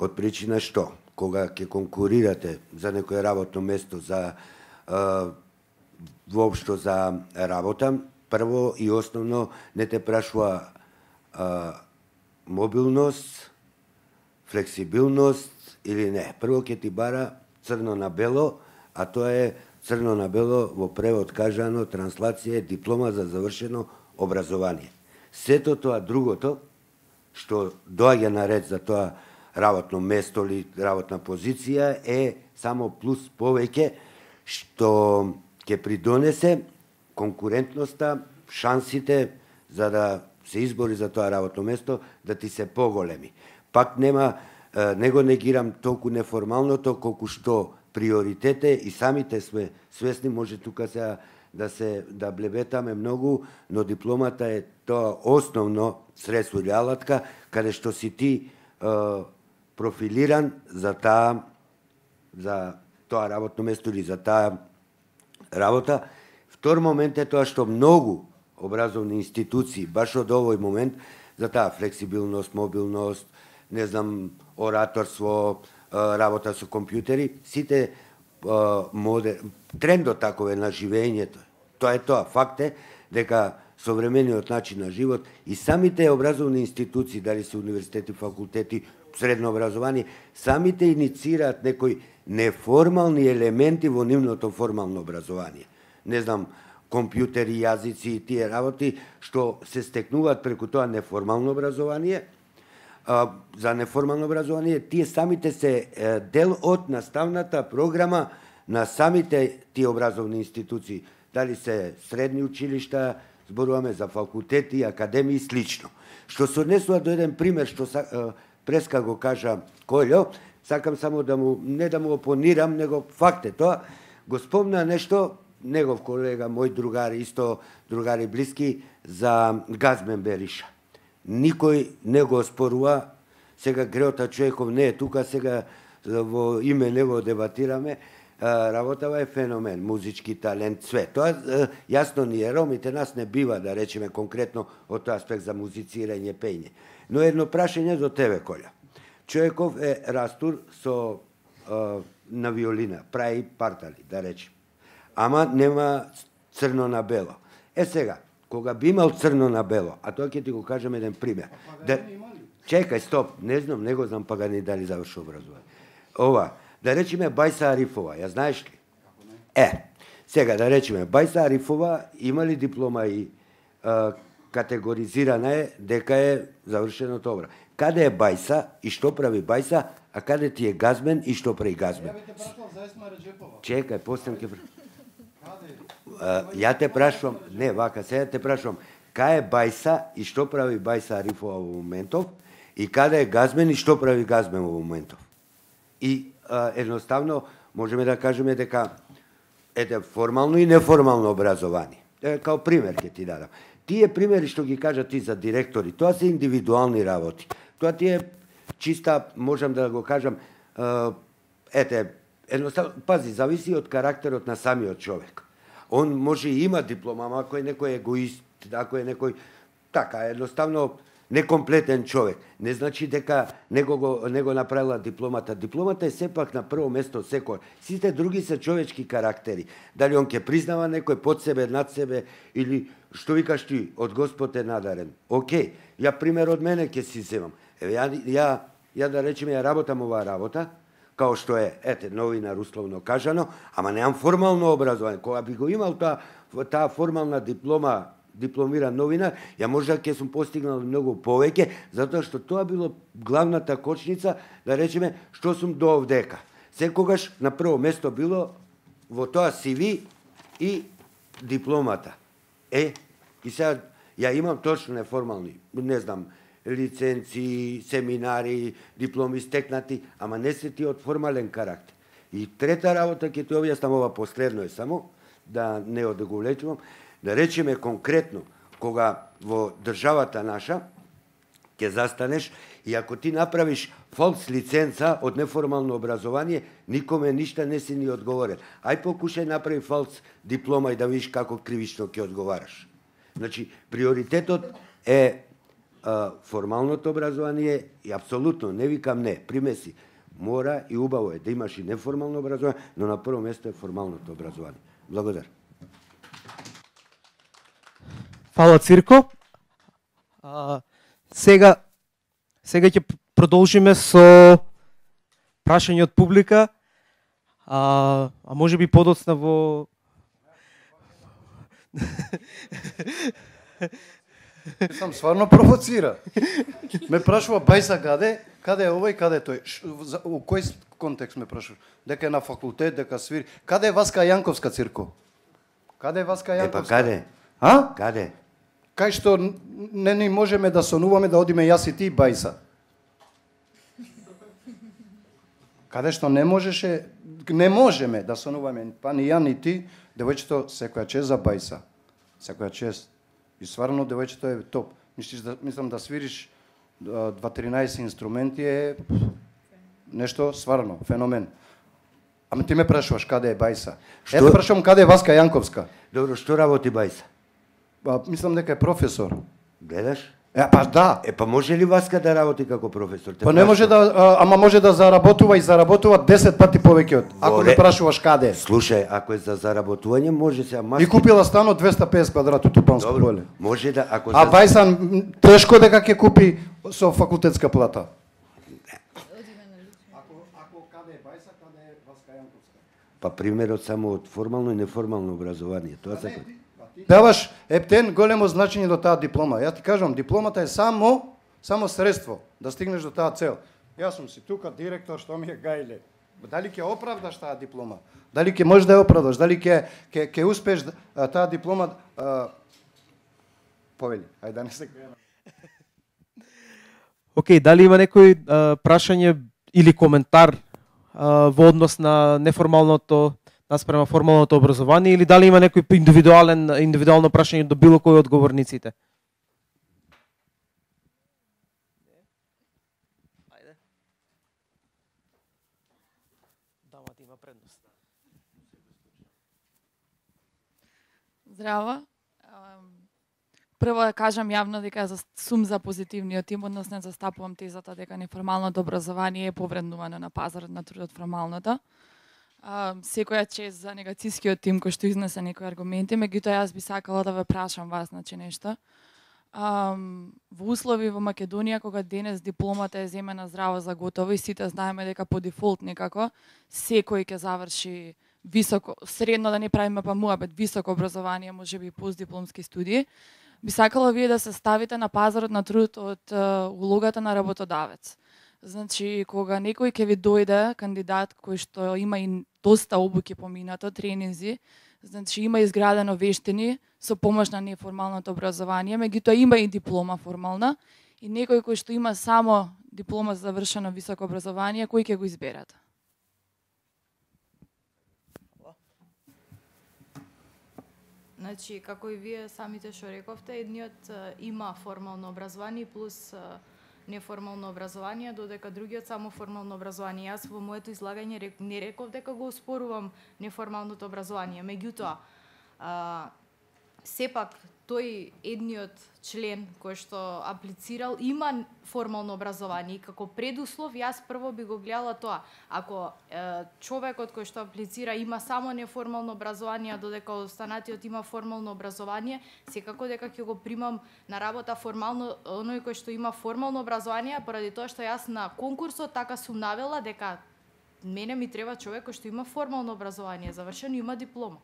од причина што, кога ќе конкурирате за некое работно место, за е, воопшто за работа, прво и основно не те прашува е, мобилност, флексибилност или не. Прво ќе ти бара црно на бело, а тоа е црно на бело во превод кажано, транслација е диплома за завршено образование. Сето тоа другото, што доаѓа на ред за тоа работно место или работна позиција, е само плюс повеќе, што ќе придонесе конкурентноста, шансите за да се избори за тоа работно место, да ти се поголеми. Пак нема, не го негирам толку неформалното, колку што приоритете и самите сме свесни, може тука се да се да блебетаме многу, но дипломата е тоа основно средство или алатка, каде што си ти е, профилиран за таа за тоа работно место или за таа работа. Втор момент е тоа што многу образовни институции баш од овој момент за таа флексибилност, мобилност, не знам, ораторство, работа со компјутери, сите модер... трендот такове на живењето. Тоа е тоа. Факт е дека современиот начин на живот и самите образовни институции, дали се универзитети, факултети, средно образование, самите иницираат некои неформални елементи во нивното формално образование. Не знам, компјутери, јазици и тие работи што се стекнуваат преку тоа неформално образование. А, за неформално образование, тие самите се е, дел од наставната програма на самите тие образовни институции. Дали се средни училишта, зборуваме за факултети, академии и слично. Што се однесува до еден пример, што е, преска го кажа Колјо, сакам само да му, не да му опонирам, него факт е тоа, го спомна нешто, негов колега, мој другари, исто другари блиски, за Газмен Бериша. Никој не го спорува, сега Греота Човеков не е тука, сега во име него дебатираме, работава е феномен, музички талент, све. Тоа јасно ни е, ромите нас не бива да речеме конкретно од тој аспект за музицирање, пење. Но едно прашање за тебе, Коля. Човеков е растур со на виолина, прави партали, да речем. Ама нема црно на бело. Е сега, кога би имал црно на бело, а тоа ќе ти го кажам еден пример. Да... Чекај, стоп, не знам, не го знам Паганини дали заврши образование. Ова, да речеме Бајса Арифова, ја знаеш ли? Е, сега да речеме Бајса Арифова има ли диплома и е, категоризирана е дека е завршено тоа. Каде е Бајса и што прави Бајса, а каде ти е Газмен и што прави Газмен? Чекај, постам ке... Ја те прашувам, не, вака, сега те прашувам, кај е Бајса и што прави Бајса Арифова во моментов, и каде е Газмен и што прави Газмен во моментов. И а, едноставно можеме да кажеме дека ете формално и неформално образование. Е, као пример ќе ти дадам. Тие примери што ги кажа ти за директори, тоа се индивидуални работи. Тоа ти е чиста, можам да го кажам, ете, едноставно, пази, зависи од карактерот на самиот човек. Он може и има диплома, ама ако е некој егоист, ако е некој така, едноставно некомплетен човек, не значи дека него го, него направила дипломата. Дипломата е сепак на прво место секој. Сите други се човечки карактери. Дали он ќе признава некој под себе, над себе, или што викаш ти, од Господ е надарен. Океј, ја пример од мене ќе си земам. Еве, ја, ја, ја да речеме, ја работам оваа работа, као што е, ете, новинар условно кажано, ама неам формално образование. Кога би го имал таа, таа формална диплома, дипломиран новинар, ја можда ќе сум постигнал многу повеќе, затоа што тоа било главната кочница, да речеме, што сум до овдека. Секогаш на прво место било во тоа си ви и дипломата. Е, и сега ја имам точно неформални, не знам, лиценци, семинари, дипломи стекнати, ама не се ти од формален карактер. И трета работа ќе ти објаснам, ова последно е само, да не одговлечувам, да речеме конкретно, кога во државата наша ќе застанеш и ако ти направиш фалс лиценца од неформално образование, никоме ништа не си ни одговорен. Ај покушај направи фалс диплома и да видиш како кривично ќе одговараш. Значи, приоритетот е а, формалното образование и апсолутно, не викам не, примеси, мора и убаво е да имаш и неформално образование, но на прво место е формалното образование. Благодарам. Фала, Цирко. А, сега сега ќе продолжиме со прашање од публика. А, а може би подоцна во Сам стварно провоцира. Ме прашува Бајса каде, каде е овој, каде е тој. Ш, за, у кој контекст ме прашува? Дека е на факултет, дека свири. Каде е Васка Јанковска, Цирко? Каде е Васка Јанковска? Епа каде? А? Каде? Кај што не ни можеме да сонуваме да одиме јас и ти Бајса. Каде што не можеше, не можеме да сонуваме, па ни ја ни ти, девојчето секоја чест за Бајса. Секоја чест. И стварно девојчето е топ. Мислиш да мислам да свириш дваесет инструменти е нешто стварно феномен. Ама ти ме прашуваш каде е Бајса. Што? Ето прашувам каде е Васка Јанковска. Добро, што работи Бајса? Па, мислам дека е професор. Гледаш? Е, па да. Е, па може ли Васка да работи како професор? Те Па не може да, а, ама може да заработува и заработува десет пати повеќе од. Ако Воле. ме прашуваш каде е. Слушај, ако е за заработување, може се И купила стан од двеста песет квадрати у Тупанско Добро, поле. може да, ако А за... Бајсан м, тешко дека ќе купи со факултетска плата. Ако ако каде е Бајса, каде е Васка Јанковска? Па примерот само од формално и неформално образование. Тоа се... Даваш ептен големо значење до таа диплома. Ја ти кажам, дипломата е само само средство да стигнеш до таа цел. Јас сум си тука директор, што ми е гајле. Дали ќе оправдаш таа диплома? Дали ќе можеш да ја оправдаш? Дали ќе ќе ќе успееш а, таа диплома а... повели? Ајде да не се крена. Океј, дали има некој а, прашање или коментар а, во однос на неформалното наспрема формалното образование или дали има некој индивидуален индивидуално прашање до било кој од говорниците? Ајде. Дамата има предност. Здраво. Прво да кажам јавно дека сум за позитивниот тим, односно застапувам тезата дека неформалното образование е повреднувано на пазарот на трудот формалното. Uh, секоја чест за негацискиот тим кој што изнесе некои аргументи, меѓутоа јас би сакала да ве прашам вас, значи нешто. Um, во услови во Македонија, кога денес дипломата е земена здраво за готово и сите знаеме дека по дефолт некако секој ќе заврши високо, средно да не правиме па муабет, високо образование, може би постдипломски студии, би сакала вие да се ставите на пазарот на труд од uh, улогата на работодавец. Значи, кога некој ќе ви дојде кандидат кој што има и доста обуки поминато, тренинзи, значи има изградено вештини со помош на неформалното образование, меѓутоа има и диплома формална, и некој кој што има само диплома за завршено високо образование, кој ќе го изберат? Значи, како и вие самите што рековте, едниот а, има формално образование плюс а, неформално образование, додека другиот само формално образование. Јас во моето излагање рек, не реков дека го оспорувам неформалното образование, меѓутоа а, сепак тој едниот член кој што аплицирал има формално образование и како предуслов јас прво би го гледала тоа. Ако е, човекот кој што аплицира има само неформално образование, додека останатиот има формално образование, секако дека ќе го примам на работа формално оној кој што има формално образование, поради тоа што јас на конкурсот така сум навела дека мене ми треба човек кој што има формално образование, завршено, има диплома.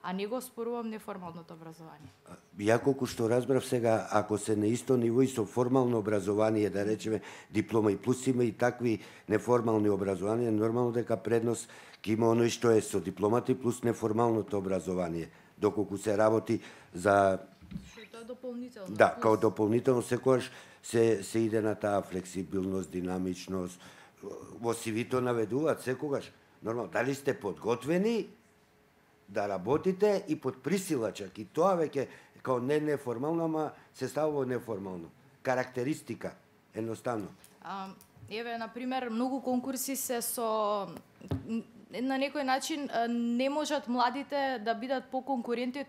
а не го спорувам неформалното образование. Ја колку што разбрав сега, ако се на исто ниво и со формално образование, да речеме диплома и плюс има и такви неформални образование, нормално дека предност ќе има оној што е со дипломата и плюс неформалното образование, доколку се работи за Што е дополнително. Да, као дополнително секогаш се се иде на таа флексибилност, динамичност. Во сивито наведуваат секогаш. Нормално, дали сте подготвени да работите и под присила чак. И тоа веќе као не неформално, ама се ставува неформално. Карактеристика, едноставно. А, еве, на пример, многу конкурси се со на некој начин не можат младите да бидат поконкурентни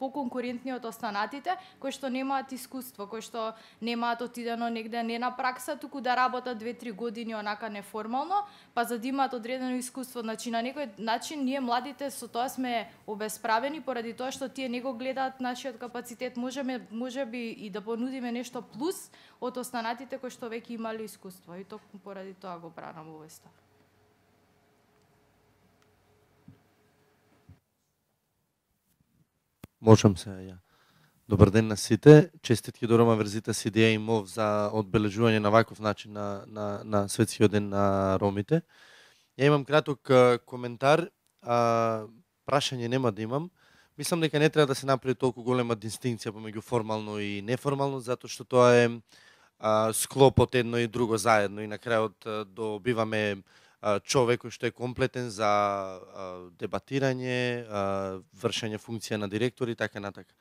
поконкурентни од останатите кои што немаат искуство, кои што немаат отидено негде не на пракса, туку да работат две-три години онака неформално, па за да имаат одредено искуство. Значи на некој начин ние младите со тоа сме обесправени поради тоа што тие не го гледаат нашиот капацитет. Можеме можеби и да понудиме нешто плюс од останатите кои што веќе имале искуство и токму поради тоа го бранам овој став. Можам се ја. Добар ден на сите. Честитки до Рома Верзита си идеја и МОВ за одбележување на ваков начин на, на, на Светскиот ден на ромите. Ја имам краток а, коментар, а, прашање нема да имам. Мислам дека не треба да се направи толку голема дистинкција помеѓу формално и неформално, затоа што тоа е а, склоп од едно и друго заедно и на крајот а, добиваме човек кој што е комплетен за а, дебатирање, а, вршење функција на директор и така натака.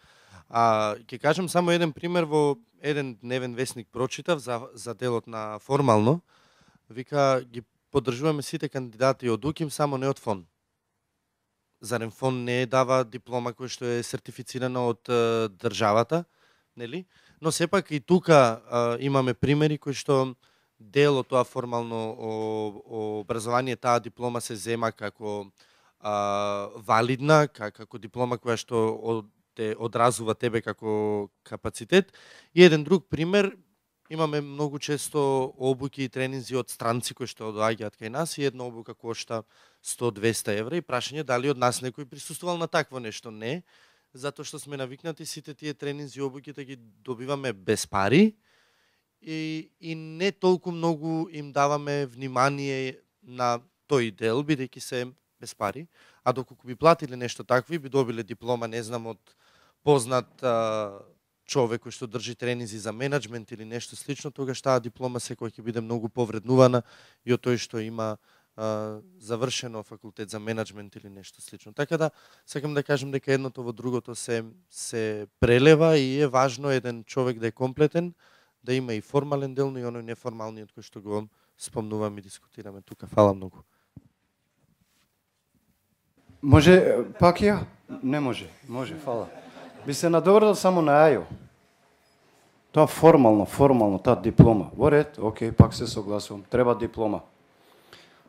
А ќе кажам само еден пример, во еден дневен весник прочитав за за делот на формално. Вика ги поддржуваме сите кандидати од УКИМ, само не од ФОН. Зарем ФОН не дава диплома која што е сертифицирана од а, државата, нели? Но сепак и тука а, имаме примери кои што дел од тоа формално образование, таа диплома се зема како а, валидна, како диплома која што од, те одразува тебе како капацитет. И еден друг пример, имаме многу често обуки и тренинзи од странци кои што доаѓаат кај нас и една обука кошта сто-двеста евра и прашање дали од нас некој присуствувал на такво нешто. Не, затоа што сме навикнати сите тие тренинзи и обуки да ги добиваме без пари. И, и не толку многу им даваме внимание на тој дел, бидејќи се без пари, а доколку би платиле нешто такви, би добиле диплома, не знам, од познат а, човек кој што држи тренинзи за менеджмент или нешто слично, тогаш таа диплома секој ќе биде многу повреднувана и од тој што има а, завршено факултет за менеджмент или нешто слично. Така да, сакам да кажам дека едното во другото се, се прелева и е важно еден човек да е комплетен, да има и формален дел, но и оној неформалниот кој што го спомнуваме и дискутираме тука. Фала многу. Може пак ја? Не може. Може, фала. Би се надоврдал само на АЈО. Тоа формално, формално, таа диплома. Во ред, окей, пак се согласувам. Треба диплома.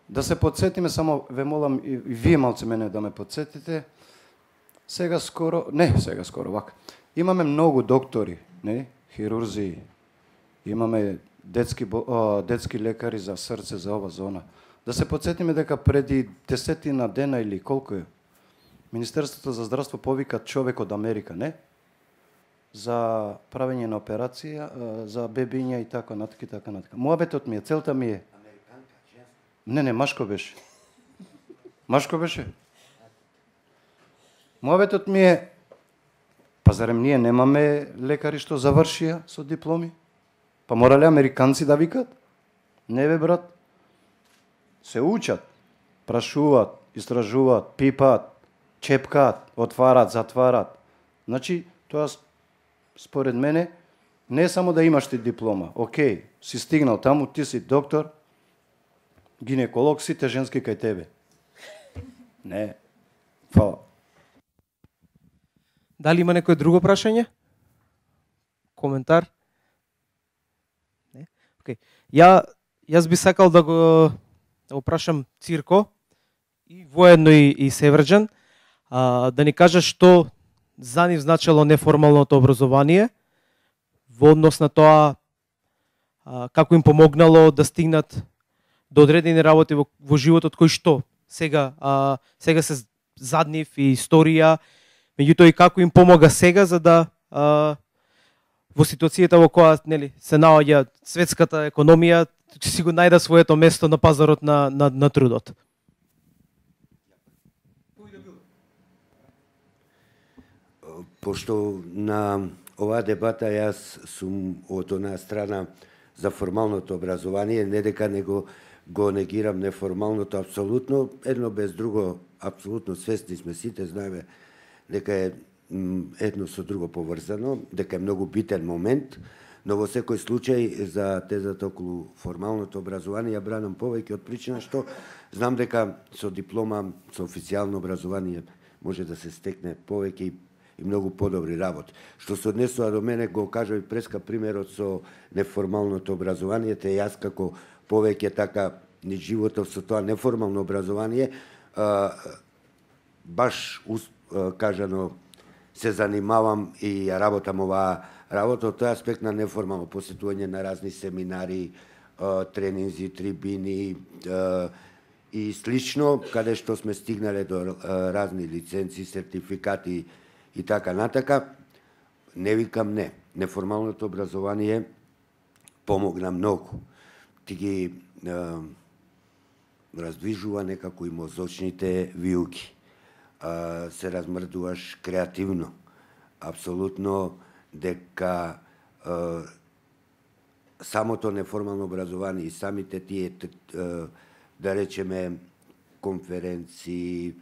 Да се подсетиме, само ве молам и вие малце мене да ме подсетите. Сега скоро, не сега скоро, вака. Имаме многу доктори, не, хирурзи, имаме детски, о, детски лекари за срце, за ова зона. Да се подсетиме дека преди десетина дена или колку е, Министерството за здравство повика човек од Америка, не? За правење на операција, за бебиња и така натака и така натака. Муабетот ми е, целта ми е. Американка, женска. Не, не, машко беше. Машко беше. Муабетот ми е, па зарем ние немаме лекари што завршија со дипломи? Па морале американци да викат? Не бе, брат. Се учат, прашуваат, истражуваат, пипаат, чепкаат, отварат, затварат. Значи, тоа според мене не е само да имаш ти диплома. Океј, си стигнал таму, ти си доктор, гинеколог, сите женски кај тебе. Не. Фала. Дали има некој друго прашање? Коментар? Не? Океј. Ја, јас би сакал да го, да го прашам Цирко и воедно и, и Севрџан, а, да ни кажа што за нив значело неформалното образование во однос на тоа а, како им помогнало да стигнат до одредени работи во, во животот кои што сега а, сега се зад нив и историја Меѓутоа и како им помога сега за да а, во ситуацијата во која нели се наоѓа светската економија, ќе си го најде своето место на пазарот на на, на трудот. Пошто на оваа дебата јас сум од онаа страна за формалното образование, не дека него го негирам неформалното апсолутно, едно без друго апсолутно свесни сме сите, знаеме дека е едно со друго поврзано, дека е многу битен момент, но во секој случај за тезата околу формалното образование ја бранам повеќе од причина што знам дека со диплома, со официјално образование може да се стекне повеќе и и многу подобри работи. Што се однесува до мене, го кажа и преска примерот со неформалното образование, те јас како повеќе така ни животов со тоа неформално образование, а, баш а, кажано се занимавам и ја работам оваа работа од тој аспект на неформално посетување на разни семинари, а, тренинзи, трибини а, и слично, каде што сме стигнале до а, разни лиценци, сертификати и така натака. Не викам не. Неформалното образование помогна многу. Ти ги е, раздвижува некако и мозочните вилки. Е, се размрдуваш креативно. Апсолутно дека е, самото неформално образование и самите тие, е, да речеме, конференции,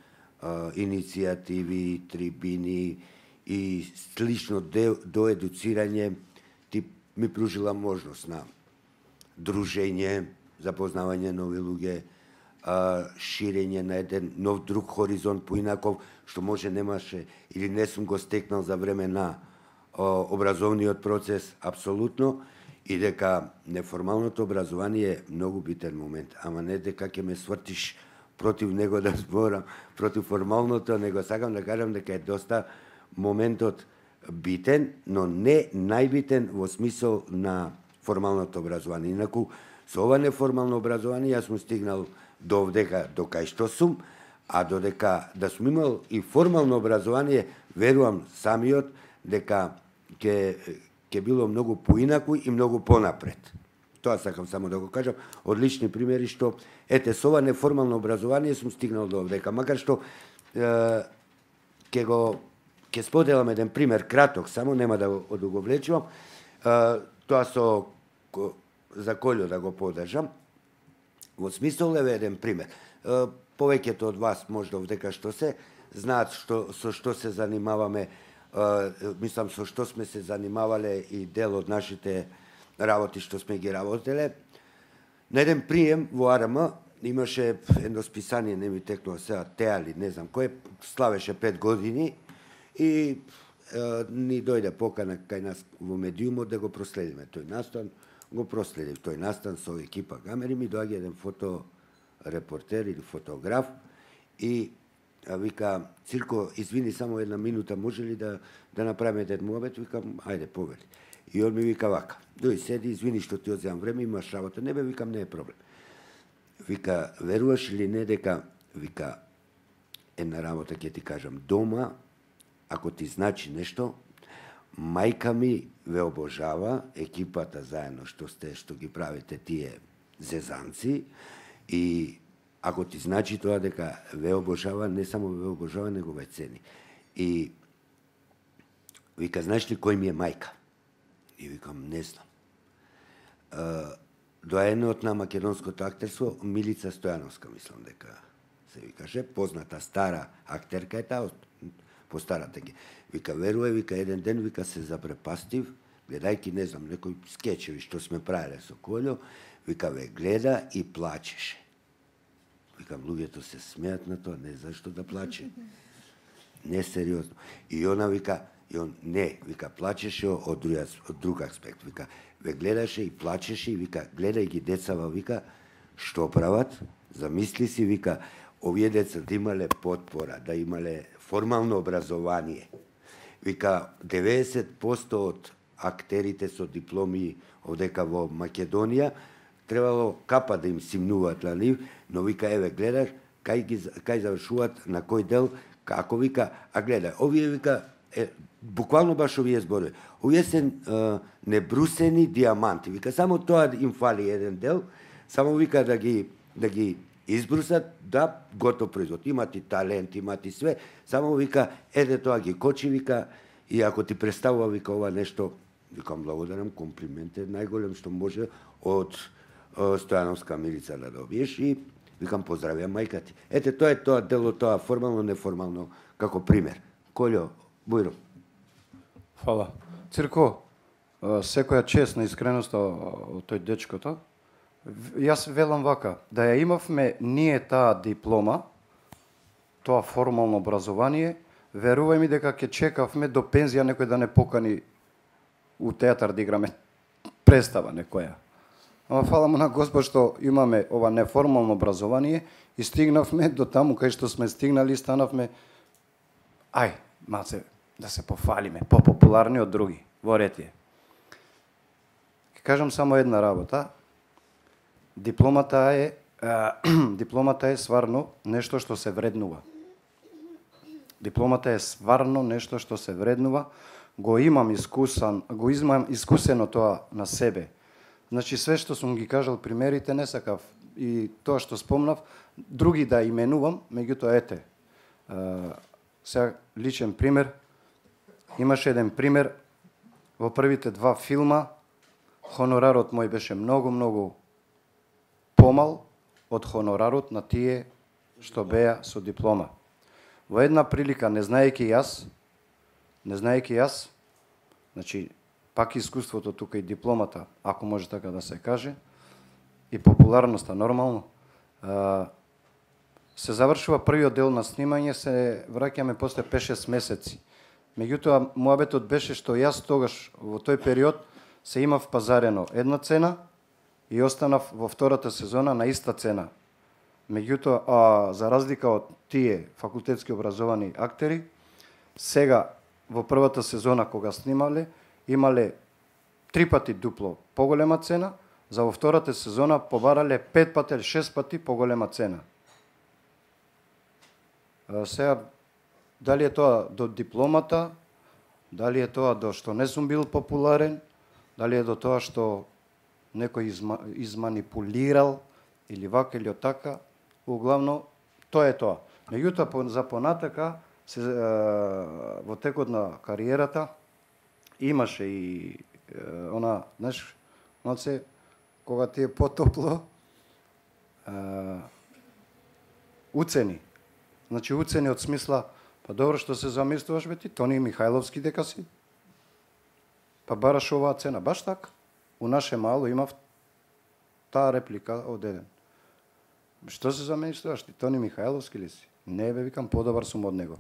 иницијативи, трибини и слично до едуцирање ти ми пружила можност на дружење, запознавање нови луѓе, ширење на еден нов друг хоризонт поинаков, што може немаше или не сум го стекнал за време на образовниот процес, апсолутно, и дека неформалното образование е многу битен момент, ама не дека ќе ме свртиш против него да зборам, против формалното, него сакам да кажам дека е доста моментот битен, но не најбитен во смисол на формалното образование. Инаку, со ова неформално образование јас сум стигнал до овдека, до кај што сум, а додека да сум имал и формално образование, верувам самиот дека ќе ќе било многу поинаку и многу понапред. Тоа сакам само да го кажам, од лични примери што ете со ова неформално образование сум стигнал до овдека, макар што е, ќе го ќе споделам еден пример краток, само нема да го одуговлечувам. Е, тоа со за Колјо да го подржам. Во смисол е еден пример. Е, повеќето од вас можда овдека што се знаат што со што се занимаваме, е, мислам со што сме се занимавале и дел од нашите работи што сме ги работеле. На еден прием во А Р М имаше едно списание, не ми текнува сега, Теали, не знам кој, славеше пет години и е, ни дојде покана кај нас во медиумот да го проследиме тој настан. Го проследив тој настан со екипа камери, ми доаѓа еден фоторепортер или фотограф и а, вика, Цирко, извини, само една минута, може ли да, да направиме еден муабет? Викам, ајде, повели. И он ми вика вака, дој седи, извини што ти одземам време, имаш работа. Не бе, викам, не е проблем. Вика, веруваш ли не дека, вика, една работа ќе ти кажам, дома, ако ти значи нешто, мајка ми ве обожава, екипата заедно што сте, што ги правите тие зезанци, и ако ти значи тоа дека ве обожава, не само ве обожава, него ве цени. И вика, знаеш ли кој ми е мајка? И викам, не знам. Доаенот на македонското актерство, Милица Стојановска, мислам дека се викаше, позната стара актерка е таа, по старата ги. Вика, веруе, вика, еден ден, вика, се запрепастив, гледајки, не знам, некои скечеви што сме правиле со Колјо, вика, ве гледа и плачеше. Викам, луѓето се смеат на тоа, не зашто да плаче. Не сериозно. И она вика, и он не, вика, плачеше од друг, од друг аспект. Вика, ве гледаше и плачеше и вика, гледај ги децава, вика, што прават? Замисли си, вика, овие деца да имале потпора, да имале формално образование. Вика, деветдесет проценти од актерите со дипломи овдека во Македонија требало капа да им симнуваат на нив, но вика, еве, гледаш, кај, ги, кај завршуваат, на кој дел, Како вика, а гледај, овие вика, е, буквално баш овие зборови. Овие се е, небрусени диаманти. Вика, само тоа им фали еден дел, само вика да ги да ги избрусат, да, готов производ. Имат и талент, имат и све, само вика, еде тоа ги кочи, вика, и ако ти представува, вика, ова нешто, викам, благодарам, комплимент е најголем што може од о, Стојановска Милица да добиеш и викам, поздравија мајка ти. Ете, тоа е тоа дело, тоа формално, неформално, како пример. Колјо, Бујро. Фала. Цирко, секоја чест на искреноста од тој дечкото. Јас велам вака, да ја имавме ние таа диплома, тоа формално образование, верувај ми дека ќе чекавме до пензија некој да не покани у театар да играме представа некоја. Ама фала му на Господ што имаме ова неформално образование и стигнавме до таму кај што сме стигнали, станавме ај, малце да се пофалиме, попопуларни од други во Ретие. Ќе кажам само една работа. Дипломата е а, дипломата е сварно нешто што се вреднува. Дипломата е сварно нешто што се вреднува. Го имам искусан, го имам искусено тоа на себе. Значи све што сум ги кажал примерите не сакав и тоа што спомнав други да именувам, меѓутоа ете. А, сега личен пример. Имаше еден пример во првите два филма. Хонорарот мој беше многу многу помал од хонорарот на тие што беа со диплома. Во една прилика, не знаејќи јас, не знаејќи јас, значи, пак искуството тука и дипломата, ако може така да се каже, и популарноста нормално, се завршува првиот дел на снимање, се враќаме после пет-шест месеци. Меѓутоа, муабетот беше што јас тогаш, во тој период, се имав пазарено една цена и останав во втората сезона на иста цена. Меѓутоа, а, за разлика од тие факултетски образовани актери, сега во првата сезона кога снимале, имале три пати дупло поголема цена, за во втората сезона побарале пет пати или шест пати поголема цена. А, сега, дали е тоа до дипломата, дали е тоа до што не сум бил популарен, дали е до тоа што некој изма, изманипулирал или вака или така, углавно тоа е тоа. Меѓутоа за понатака се, е, во текот на кариерата имаше и е, она, знаеш, малце кога ти е потопло, е, уцени. Значи уцени од смисла, па добро што се замислуваш бе ти, Тони Михајловски дека си. Па бараш оваа цена, баш така. У наше мало имав таа реплика од еден. Што се замислуваш ти, Тони Михајловски ли си? Не бе, викам, подобар сум од него.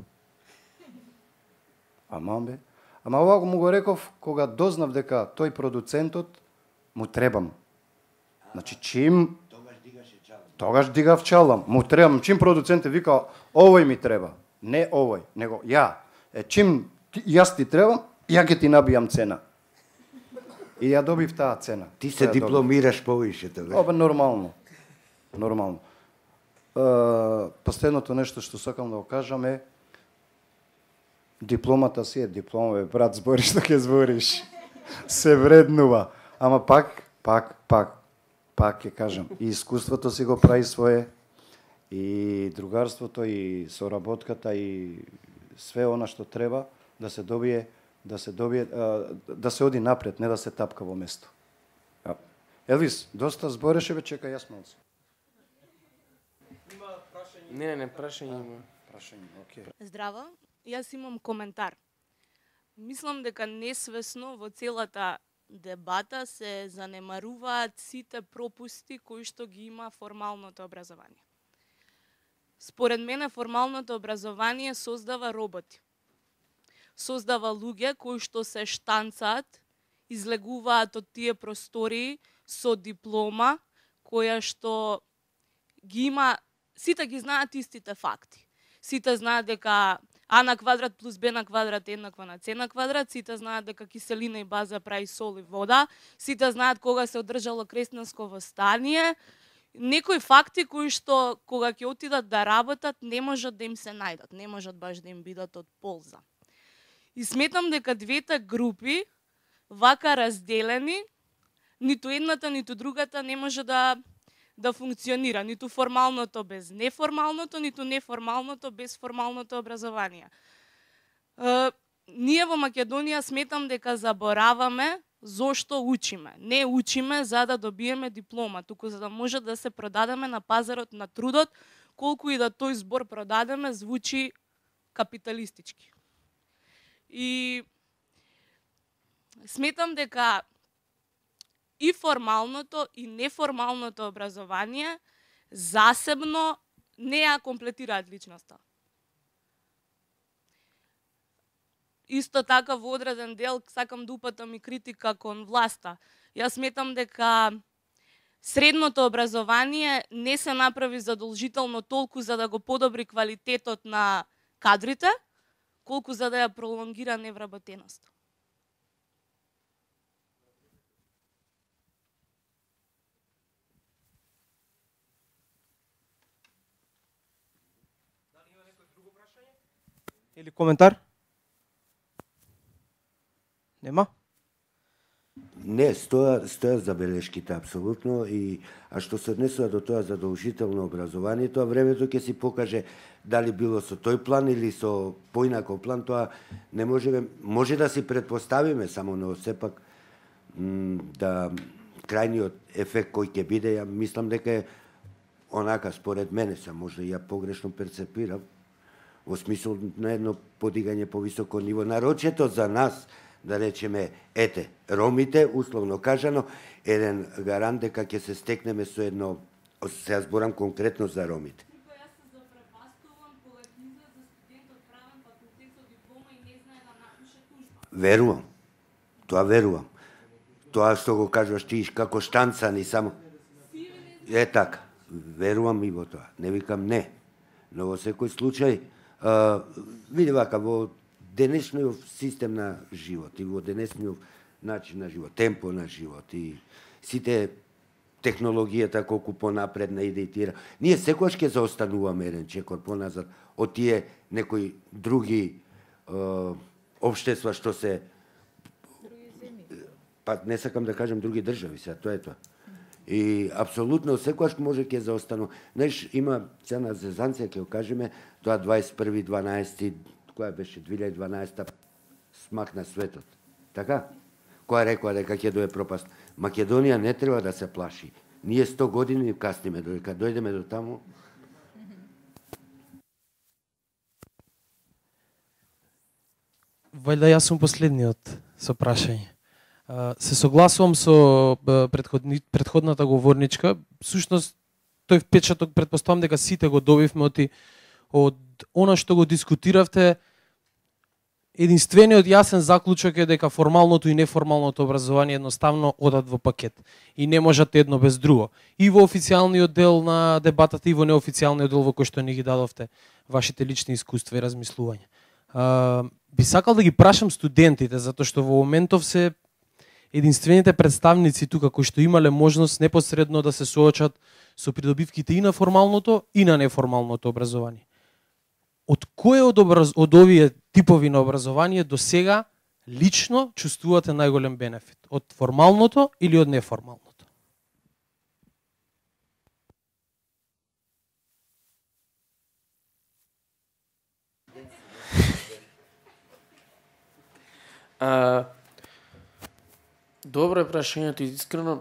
Ама бе. Ама ова му го реков кога дознав дека тој продуцентот му требам. Значи чим Тогаш дигаше чалам. Тогаш дигав чалам. Му требам, чим продуцентот вика овој ми треба. Не овој, него ја. Е чим јас ти требам, ја ќе ти набијам цена. И ја добив таа цена. Ти се дипломираш повише, тоа. Ова нормално. Нормално. Е, последното нешто што сакам да го кажам е дипломата си е диплома, бе, брат, збориш што ќе збориш. Се вреднува. Ама пак, пак, пак, пак ќе кажам, и искуството си го прави свое, и другарството, и соработката, и све она што треба да се добие, да се добие, да се оди напред, не да се тапка во место. Елвис, доста збореше, бе, чека јас малце. Не, не, не, прашање има. Прашање, окей. Здраво, јас имам коментар. Мислам дека несвесно во целата дебата се занемаруваат сите пропусти кои што ги има формалното образование. Според мене формалното образование создава роботи. Создава луѓе кои што се штанцаат, излегуваат од тие простории со диплома, која што ги има, сите ги знаат истите факти. Сите знаат дека А на квадрат плюс Б на квадрат е еднакво на С на квадрат, сите знаат дека киселина и база прави сол и вода, сите знаат кога се одржало креснанско восстание некои факти кои што кога ќе отидат да работат не можат да им се најдат, не можат баш да им бидат од полза. И сметам дека двете групи вака разделени, ниту едната, ниту другата не може да да функционира, ниту формалното без неформалното, ниту неформалното без формалното образование. Е, ние во Македонија сметам дека забораваме зошто учиме. Не учиме за да добиеме диплома, туку за да може да се продадеме на пазарот на трудот, колку и да тој збор продадеме звучи капиталистички. И сметам дека и формалното и неформалното образование засебно не ја комплетираат личноста. Исто така во одреден дел сакам да упатам и критика кон власта. Јас сметам дека средното образование не се направи задолжително толку за да го подобри квалитетот на кадрите, колку за да ја пролонгира невработеноста. Или коментар? Нема? Не, стоја, стоја забелешките апсолутно, и а што се однесува до тоа задолжително образование, тоа времето ќе си покаже дали било со тој план или со поинаков план, тоа не можеме, може да си предпоставиме само, но сепак да крајниот ефект кој ќе биде, ја мислам дека е онака според мене, се може ја погрешно перцепирам, во смисол на едно подигање по високо ниво, нарочето за нас, да речеме, ете, ромите, условно кажано, еден гарант дека ќе се стекнеме со едно, се ја зборам конкретно за ромите. Јас се запрепастувам кога ќе излезе студент од правен факултет со диплома и не знае да напише тужба. Верувам. Тоа верувам. Тоа што го кажуваш ти како штанцани само. Е така. Верувам и во тоа. Не викам не. Но во секој случај, а, види вака, во денешниот систем на живот и во денешниот начин на живот, темпо на живот и сите технологијата колку понапредна иде и тира. Ние секогаш ќе заостануваме еден чекор поназад од тие некои други е, општества што се па не сакам да кажам други држави, сега тоа е тоа. И апсолутно секогаш може ќе заостанува. Знаеш, има цена зезанција, ќе го кажеме, тоа дваесет и први дванаесети која беше две илјади и дванаесета смак на светот. Така? Која рекоа дека ќе дое пропаст. Македонија не треба да се плаши. Ние сто години касниме, додека дојдеме до таму. Вајда јас сум последниот со прашање. Се согласувам со предходни, предходната говорничка. Сушност, тој впечаток претпоставам дека сите го добивме од, од она што го дискутиравте. Единствениот јасен заклучок е дека формалното и неформалното образование едноставно одат во пакет и не можат едно без друго. И во официјалниот дел на дебатата и во неофицијалниот дел во кој што ни ги дадовте вашите лични искуства и размислувања. А, би сакал да ги прашам студентите, затоа што во моментов се единствените представници тука кои што имале можност непосредно да се соочат со придобивките и на формалното и на неформалното образование. Од кој од, образ... од овие типови на образование до сега лично чувствувате најголем бенефит? Од формалното или од неформалното? А, добро е прашањето, искрено.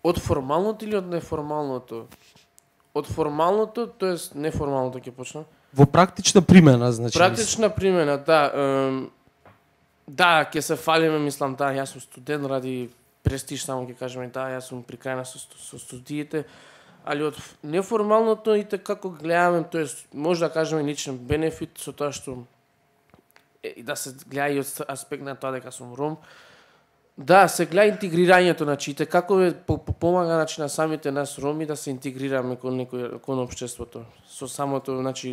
Од формалното или од неформалното? Од формалното, тоест неформалното ќе почна. Во практична примена, значи. Практична примена, да. Ем, да, ќе се фалиме, мислам, да, јас сум студент ради престиж, само ќе кажеме, да, јас сум при крај на со, со студиите, али од неформалното и како гледаме, тоест може да кажеме личен бенефит со тоа што и да се гледа и од аспект на тоа дека сум ром. Да, се гледа интегрирањето, значи, како е помага, значи, на самите нас роми да се интегрираме кон некој кон општеството. Со самото, значи,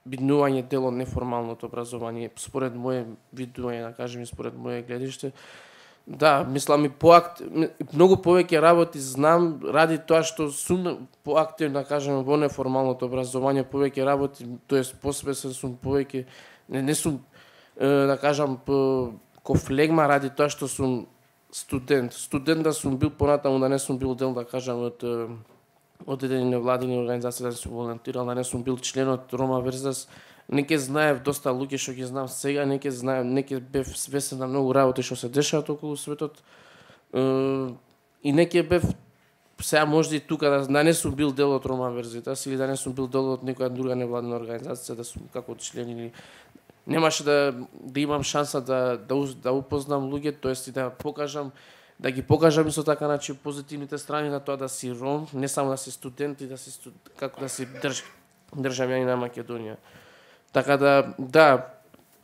биднување дел од неформалното образование, според моје видување, да кажем, и според моје гледиште. Да, мислам и поакт многу повеќе работи знам ради тоа што сум поактивна, кажеме, во неформалното образование, повеќе работи, тоест посвесен сум повеќе, не, не сум е, да кажам ко флегма ради тоа што сум студент. Студент да сум бил понатаму, да не сум бил дел, да кажам, од од едени невладини организации, да сум волонтирал, да не сум бил член од Рома Верзитас. Не ке знаев доста луѓе што ги знам сега, не ке знаев, не ке бев свесен на многу работи што се дешаваат околу светот. Е, и не ке бев сега можда и тука да, да не сум бил дел од Рома Верзитас или да не сум бил дел од некоја друга невладина организација, да сум како член или немаше да да имам шанса да да да упознам луѓе, тоест и да покажам да ги покажам исто така, значи, позитивните страни на тоа да си ром, не само да си студент и да си студ... како да си држ... државјанин на Македонија. Така да, да,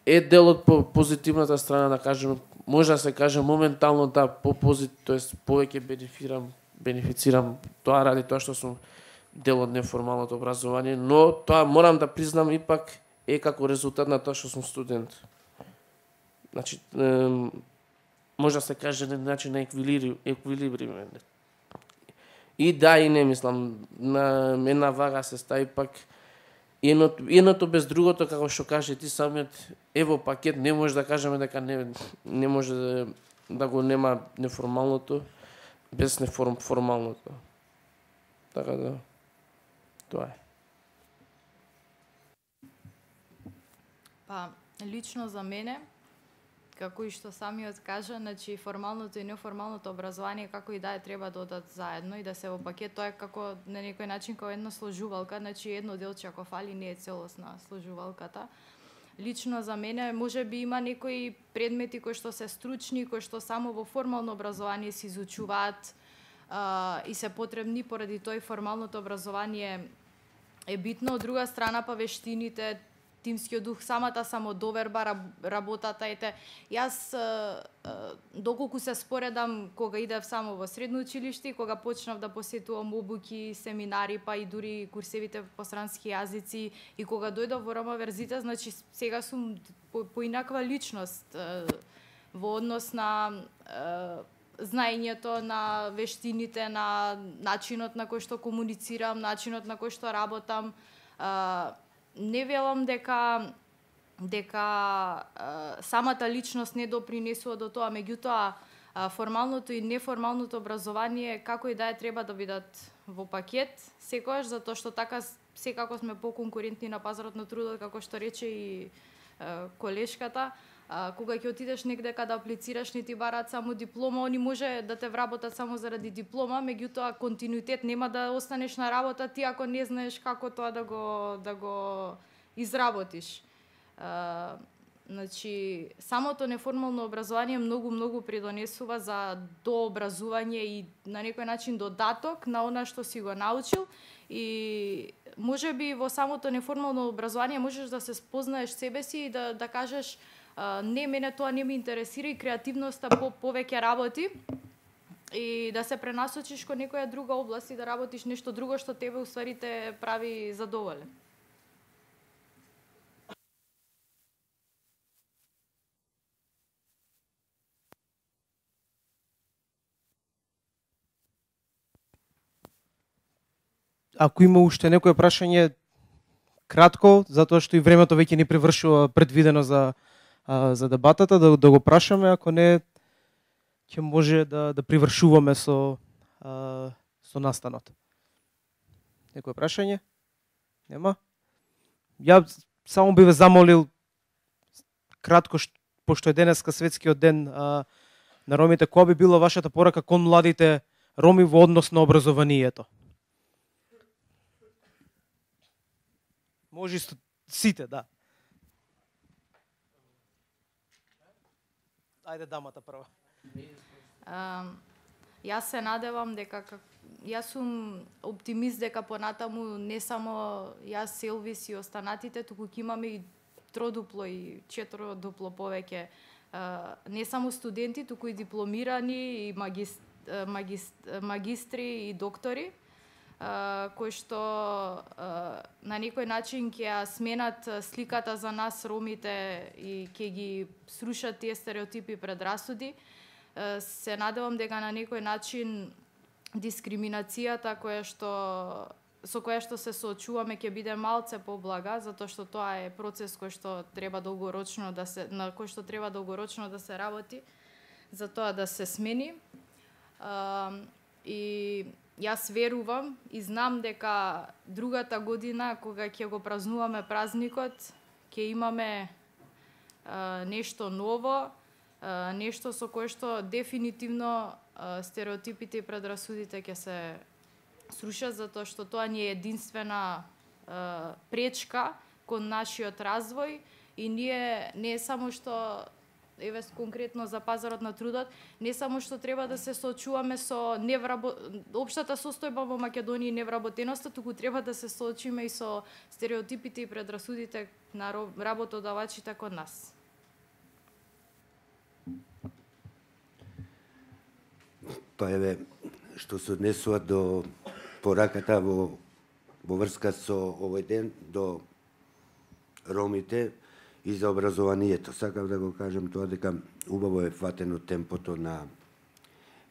е дел од позитивната страна, да кажем, може да се каже моментално да по позитив, тоест повеќе бенефирам, бенефицирам тоа ради тоа што сум дел од неформалното образование, но тоа морам да признам ипак е како резултат на тоа што сум студент. Значи, е, може да се каже на начин на еквилибриум. И да, и не, мислам, на една вага се стави пак едното, едното без другото, како што каже ти самиот, ево пакет, не може да кажеме дека не, не може да, да го нема неформалното без неформалното. Така да, тоа е. Па, лично за мене, како и што самиот кажа, значи формалното и неформалното образование како и да е треба да одат заедно и да се во пакет, тоа е како на некој начин како една сложувалка, значи едно делче ако фали не е целосна сложувалката. Лично за мене може би има некои предмети кои што се стручни, кои што само во формално образование се изучуваат а, и се потребни, поради тоа и формалното образование е битно. Од друга страна па вештините, тимскиот дух, самата самодоверба, работата, ете, јас доколку се споредам кога идев само во средно училиште и кога почнав да посетувам обуки, семинари, па и дури курсевите по странски јазици и кога дојдов во Рома Верзитас, значи сега сум по, поинаква личност во однос на знаењето, на вештините, на начинот на кој што комуницирам, начинот на кој што работам. Не велам дека дека а, самата личност не допринесува до тоа, меѓутоа а, формалното и неформалното образование како и да е треба да бидат во пакет, секогаш, затоа што така секако сме поконкурентни на пазарот на трудот, како што рече и а, колешката. А, кога ќе отидеш негде каде аплицираш, не ти бараат само диплома, они може да те вработат само заради диплома, меѓутоа континуитет нема да останеш на работа ти ако не знаеш како тоа да го да го изработиш. А, значи самото неформално образование многу многу придонесува за дообразување и на некој начин додаток на она што си го научил и може би во самото неформално образование можеш да се спознаеш себе си и да да кажеш Uh, не, мене тоа не ме интересира и креативноста по повеќе работи и да се пренасочиш кон некоја друга област и да работиш нешто друго што тебе уствари те прави задоволен. Ако има уште некое прашање, кратко, затоа што и времето веќе ни превршува предвидено за а, за дебатата, да, да го прашаме, ако не ќе може да да привршуваме со а, со настанот. Некое прашање? Нема? Ја само би ве замолил кратко, пошто е денеска светскиот ден а, на ромите, која би била вашата порака кон младите роми во однос на образованието? Може сите, да. Ајде дамата прва. Uh, јас се надевам дека јас сум оптимист дека понатаму не само јас, Селвис и останатите, туку ќе имаме и тродупло и четиродупло повеќе uh, не само студенти, туку и дипломирани и магист, магист, магистри и доктори, Uh, кои што uh, на некој начин ќе ја сменат сликата за нас ромите и ќе ги срушат тие стереотипи и предрасуди. се надевам дека на некој начин дискриминацијата која што со која што се соочуваме ќе биде малце поблага, затоа што тоа е процес кој што треба долгорочно да се на кој што треба долгорочно да се работи за тоа да се смени. Uh, и јас верувам и знам дека другата година кога ќе го празнуваме празникот, ќе имаме uh, нешто ново, uh, нешто со кое што дефинитивно uh, стереотипите и предрасудите ќе се срушат, затоа што тоа ни е единствена uh, пречка кон нашиот развој и ние не е само што еве конкретно за пазарот на трудот, не само што треба да се соочуваме со неврабо... општата состојба во Македонија и невработеноста, туку треба да се соочиме и со стереотипите и предрасудите на работодавачите кон нас. Па еве, што се однесува до пораката во, во врска со овој ден, до ромите, и за образованието. Сакав да го кажам тоа дека убаво е фатено темпото на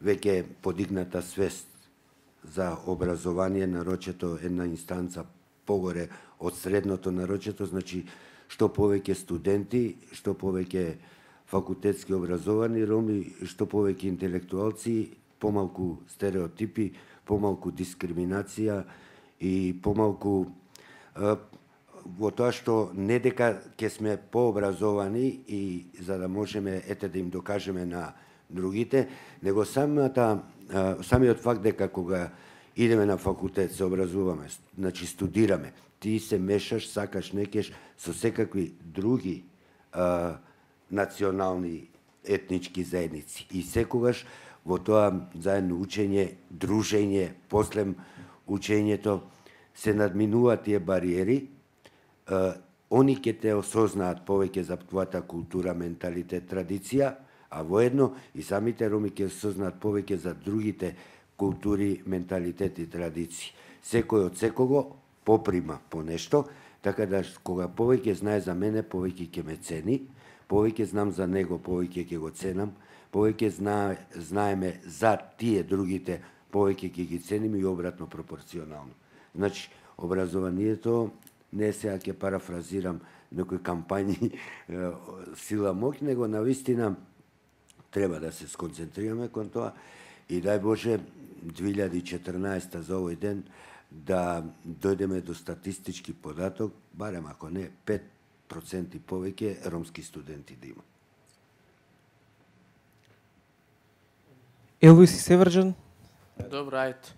веќе подигната свест за образование, нарочето една инстанца погоре од средното нарочето, значи што повеќе студенти, што повеќе факултетски образовани роми, што повеќе интелектуалци, помалку стереотипи, помалку дискриминација и помалку во тоа што не дека ќе сме пообразовани и за да можеме ете да им докажеме на другите, него самата самиот факт дека кога идеме на факултет се образуваме, значи студираме, ти се мешаш, сакаш некеш со секакви други а, национални етнички заедници и секогаш во тоа заедно учење, дружење, после учењето се надминуваат тие бариери. Uh, они ќе те осознаат повеќе за твојата култура, менталитет, традиција, а воедно и самите роми ќе осознаат повеќе за другите култури, менталитет и традиции. Секој од секого поприма по нешто, така да кога повеќе знае за мене, повеќе ќе ме цени, повеќе знам за него, повеќе ќе го ценам, повеќе знае, знаеме за тие другите, повеќе ќе ги ценим и обратно пропорционално. Значи, образованието не сега ќе парафразирам некои кампањи сила моќ, него навистина треба да се сконцентрираме кон тоа и дај Боже две илјади и четрнаесета за овој ден да дојдеме до статистички податок, барем ако не пет проценти повеќе ромски студенти да има. Елвис и Северџан? Добро, ајде.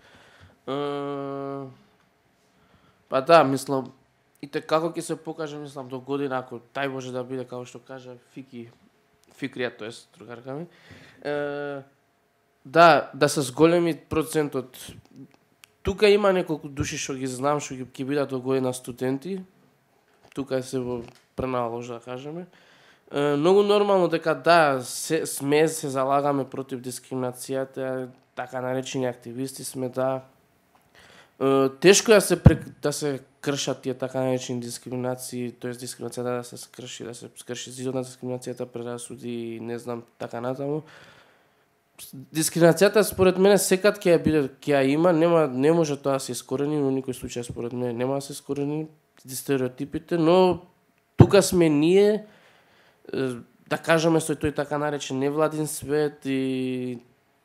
Uh, па да, мислам, и те како ќе се покаже, мислам, до година, ако тај може да биде, како што кажа Фики, Фикрија, тоест, другарка ми, е, да, да се зголеми процентот. Тука има неколку души што ги знам, што ќе бидат до година студенти, тука се во пренала ложа, да кажеме. Е, многу нормално дека да, се, сме, се залагаме против дискриминацијата, така наречени активисти сме, да. Е, тешко е да се, да се кршат тие така наречени дискриминации, тоест дискриминацијата да се скрши, да се скрши зидот на дискриминацијата, предрасуди, не знам, така натаму. Дискриминацијата според мене секад ќе ја биде, ќе ја има, нема не може тоа да се искорени, но никој случај според мене нема да се искорени стереотипите, но тука сме ние да кажеме со тој така наречен невладин свет и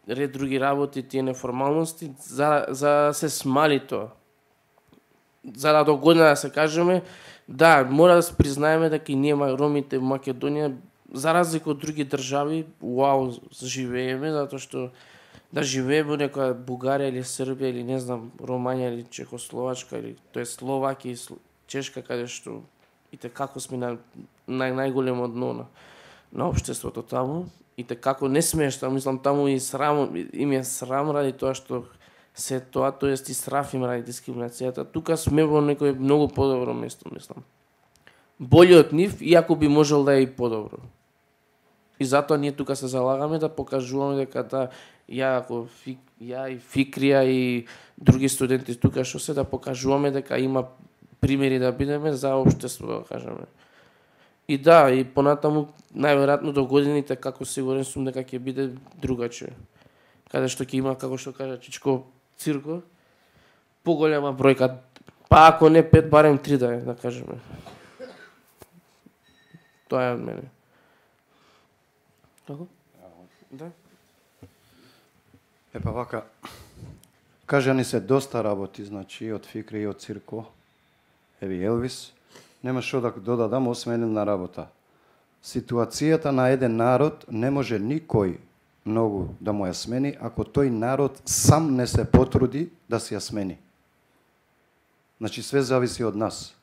ред други работи, тие неформалности за за да се смали тоа. За да до година да се кажеме, да, мора да се признаеме дека и ние ромите во Македонија, за разлика од други држави, уау, живееме, затоа што да живееме во некоја Бугарија или Србија или не знам, Романија или Чехословачка или тоа е Словакија и Чешка, каде што и те како сме на нај најголемо дно на, на општеството таму, и те како не смешно, мислам таму и срам, им е срам ради тоа што се тоа, тоест и страф им ради дискриминацијата. Тука сме во некој многу подобро место, мислам. Боле од нив, иако би можел да е и подобро. И затоа ние тука се залагаме да покажуваме дека да ја ако фик, ја и Фикрија и други студенти тука што се да покажуваме дека има примери да бидеме за општество, да кажеме. И да, и понатаму најверојатно до годините како сигурен сум дека ќе биде другаче. Каде што ќе има, како што кажа Чичко, цирко, поголема бројка, па ако не пет, барем три да е, да кажеме. Тоа е од мене. Како? Да. Епа вака, кажа ни се доста работи, значи, од Фикри и од Цирко, еви Елвис, нема што да додадам, освен една работа. Ситуацијата на еден народ не може никој многу да му ја смени, ако тој народ сам не се потруди да се ја смени. Значи, све зависи од нас.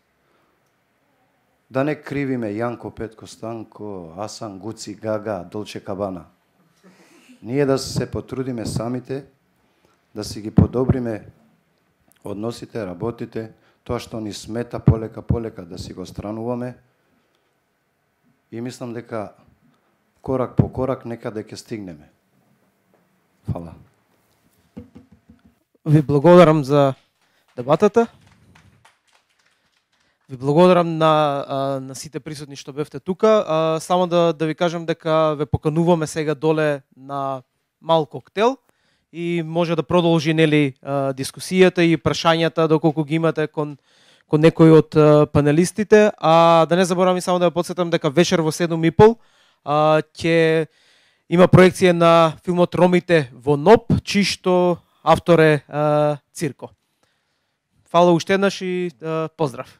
Да не кривиме Јанко, Петко, Станко, Асан, Гуци, Гага, Долче Кабана. Ние да се потрудиме самите, да си ги подобриме односите, работите, тоа што ни смета полека, полека да си го странуваме. И мислам дека корак по корак некаде ќе стигнеме. Фала. Ви благодарам за дебатата. Ви благодарам на, на сите присутни што бевте тука. Само да, да ви кажам дека ве покануваме сега доле на мал коктел и може да продолжи нели дискусијата и прашањата доколку ги имате кон кон некој од панелистите, а да не заборавам само да ја потсетам дека вечер во седум и пол ќе има проекција на филмот Ромите во НОП, чии што автор е а, Цирко. Фала уште еднаш и а, поздрав.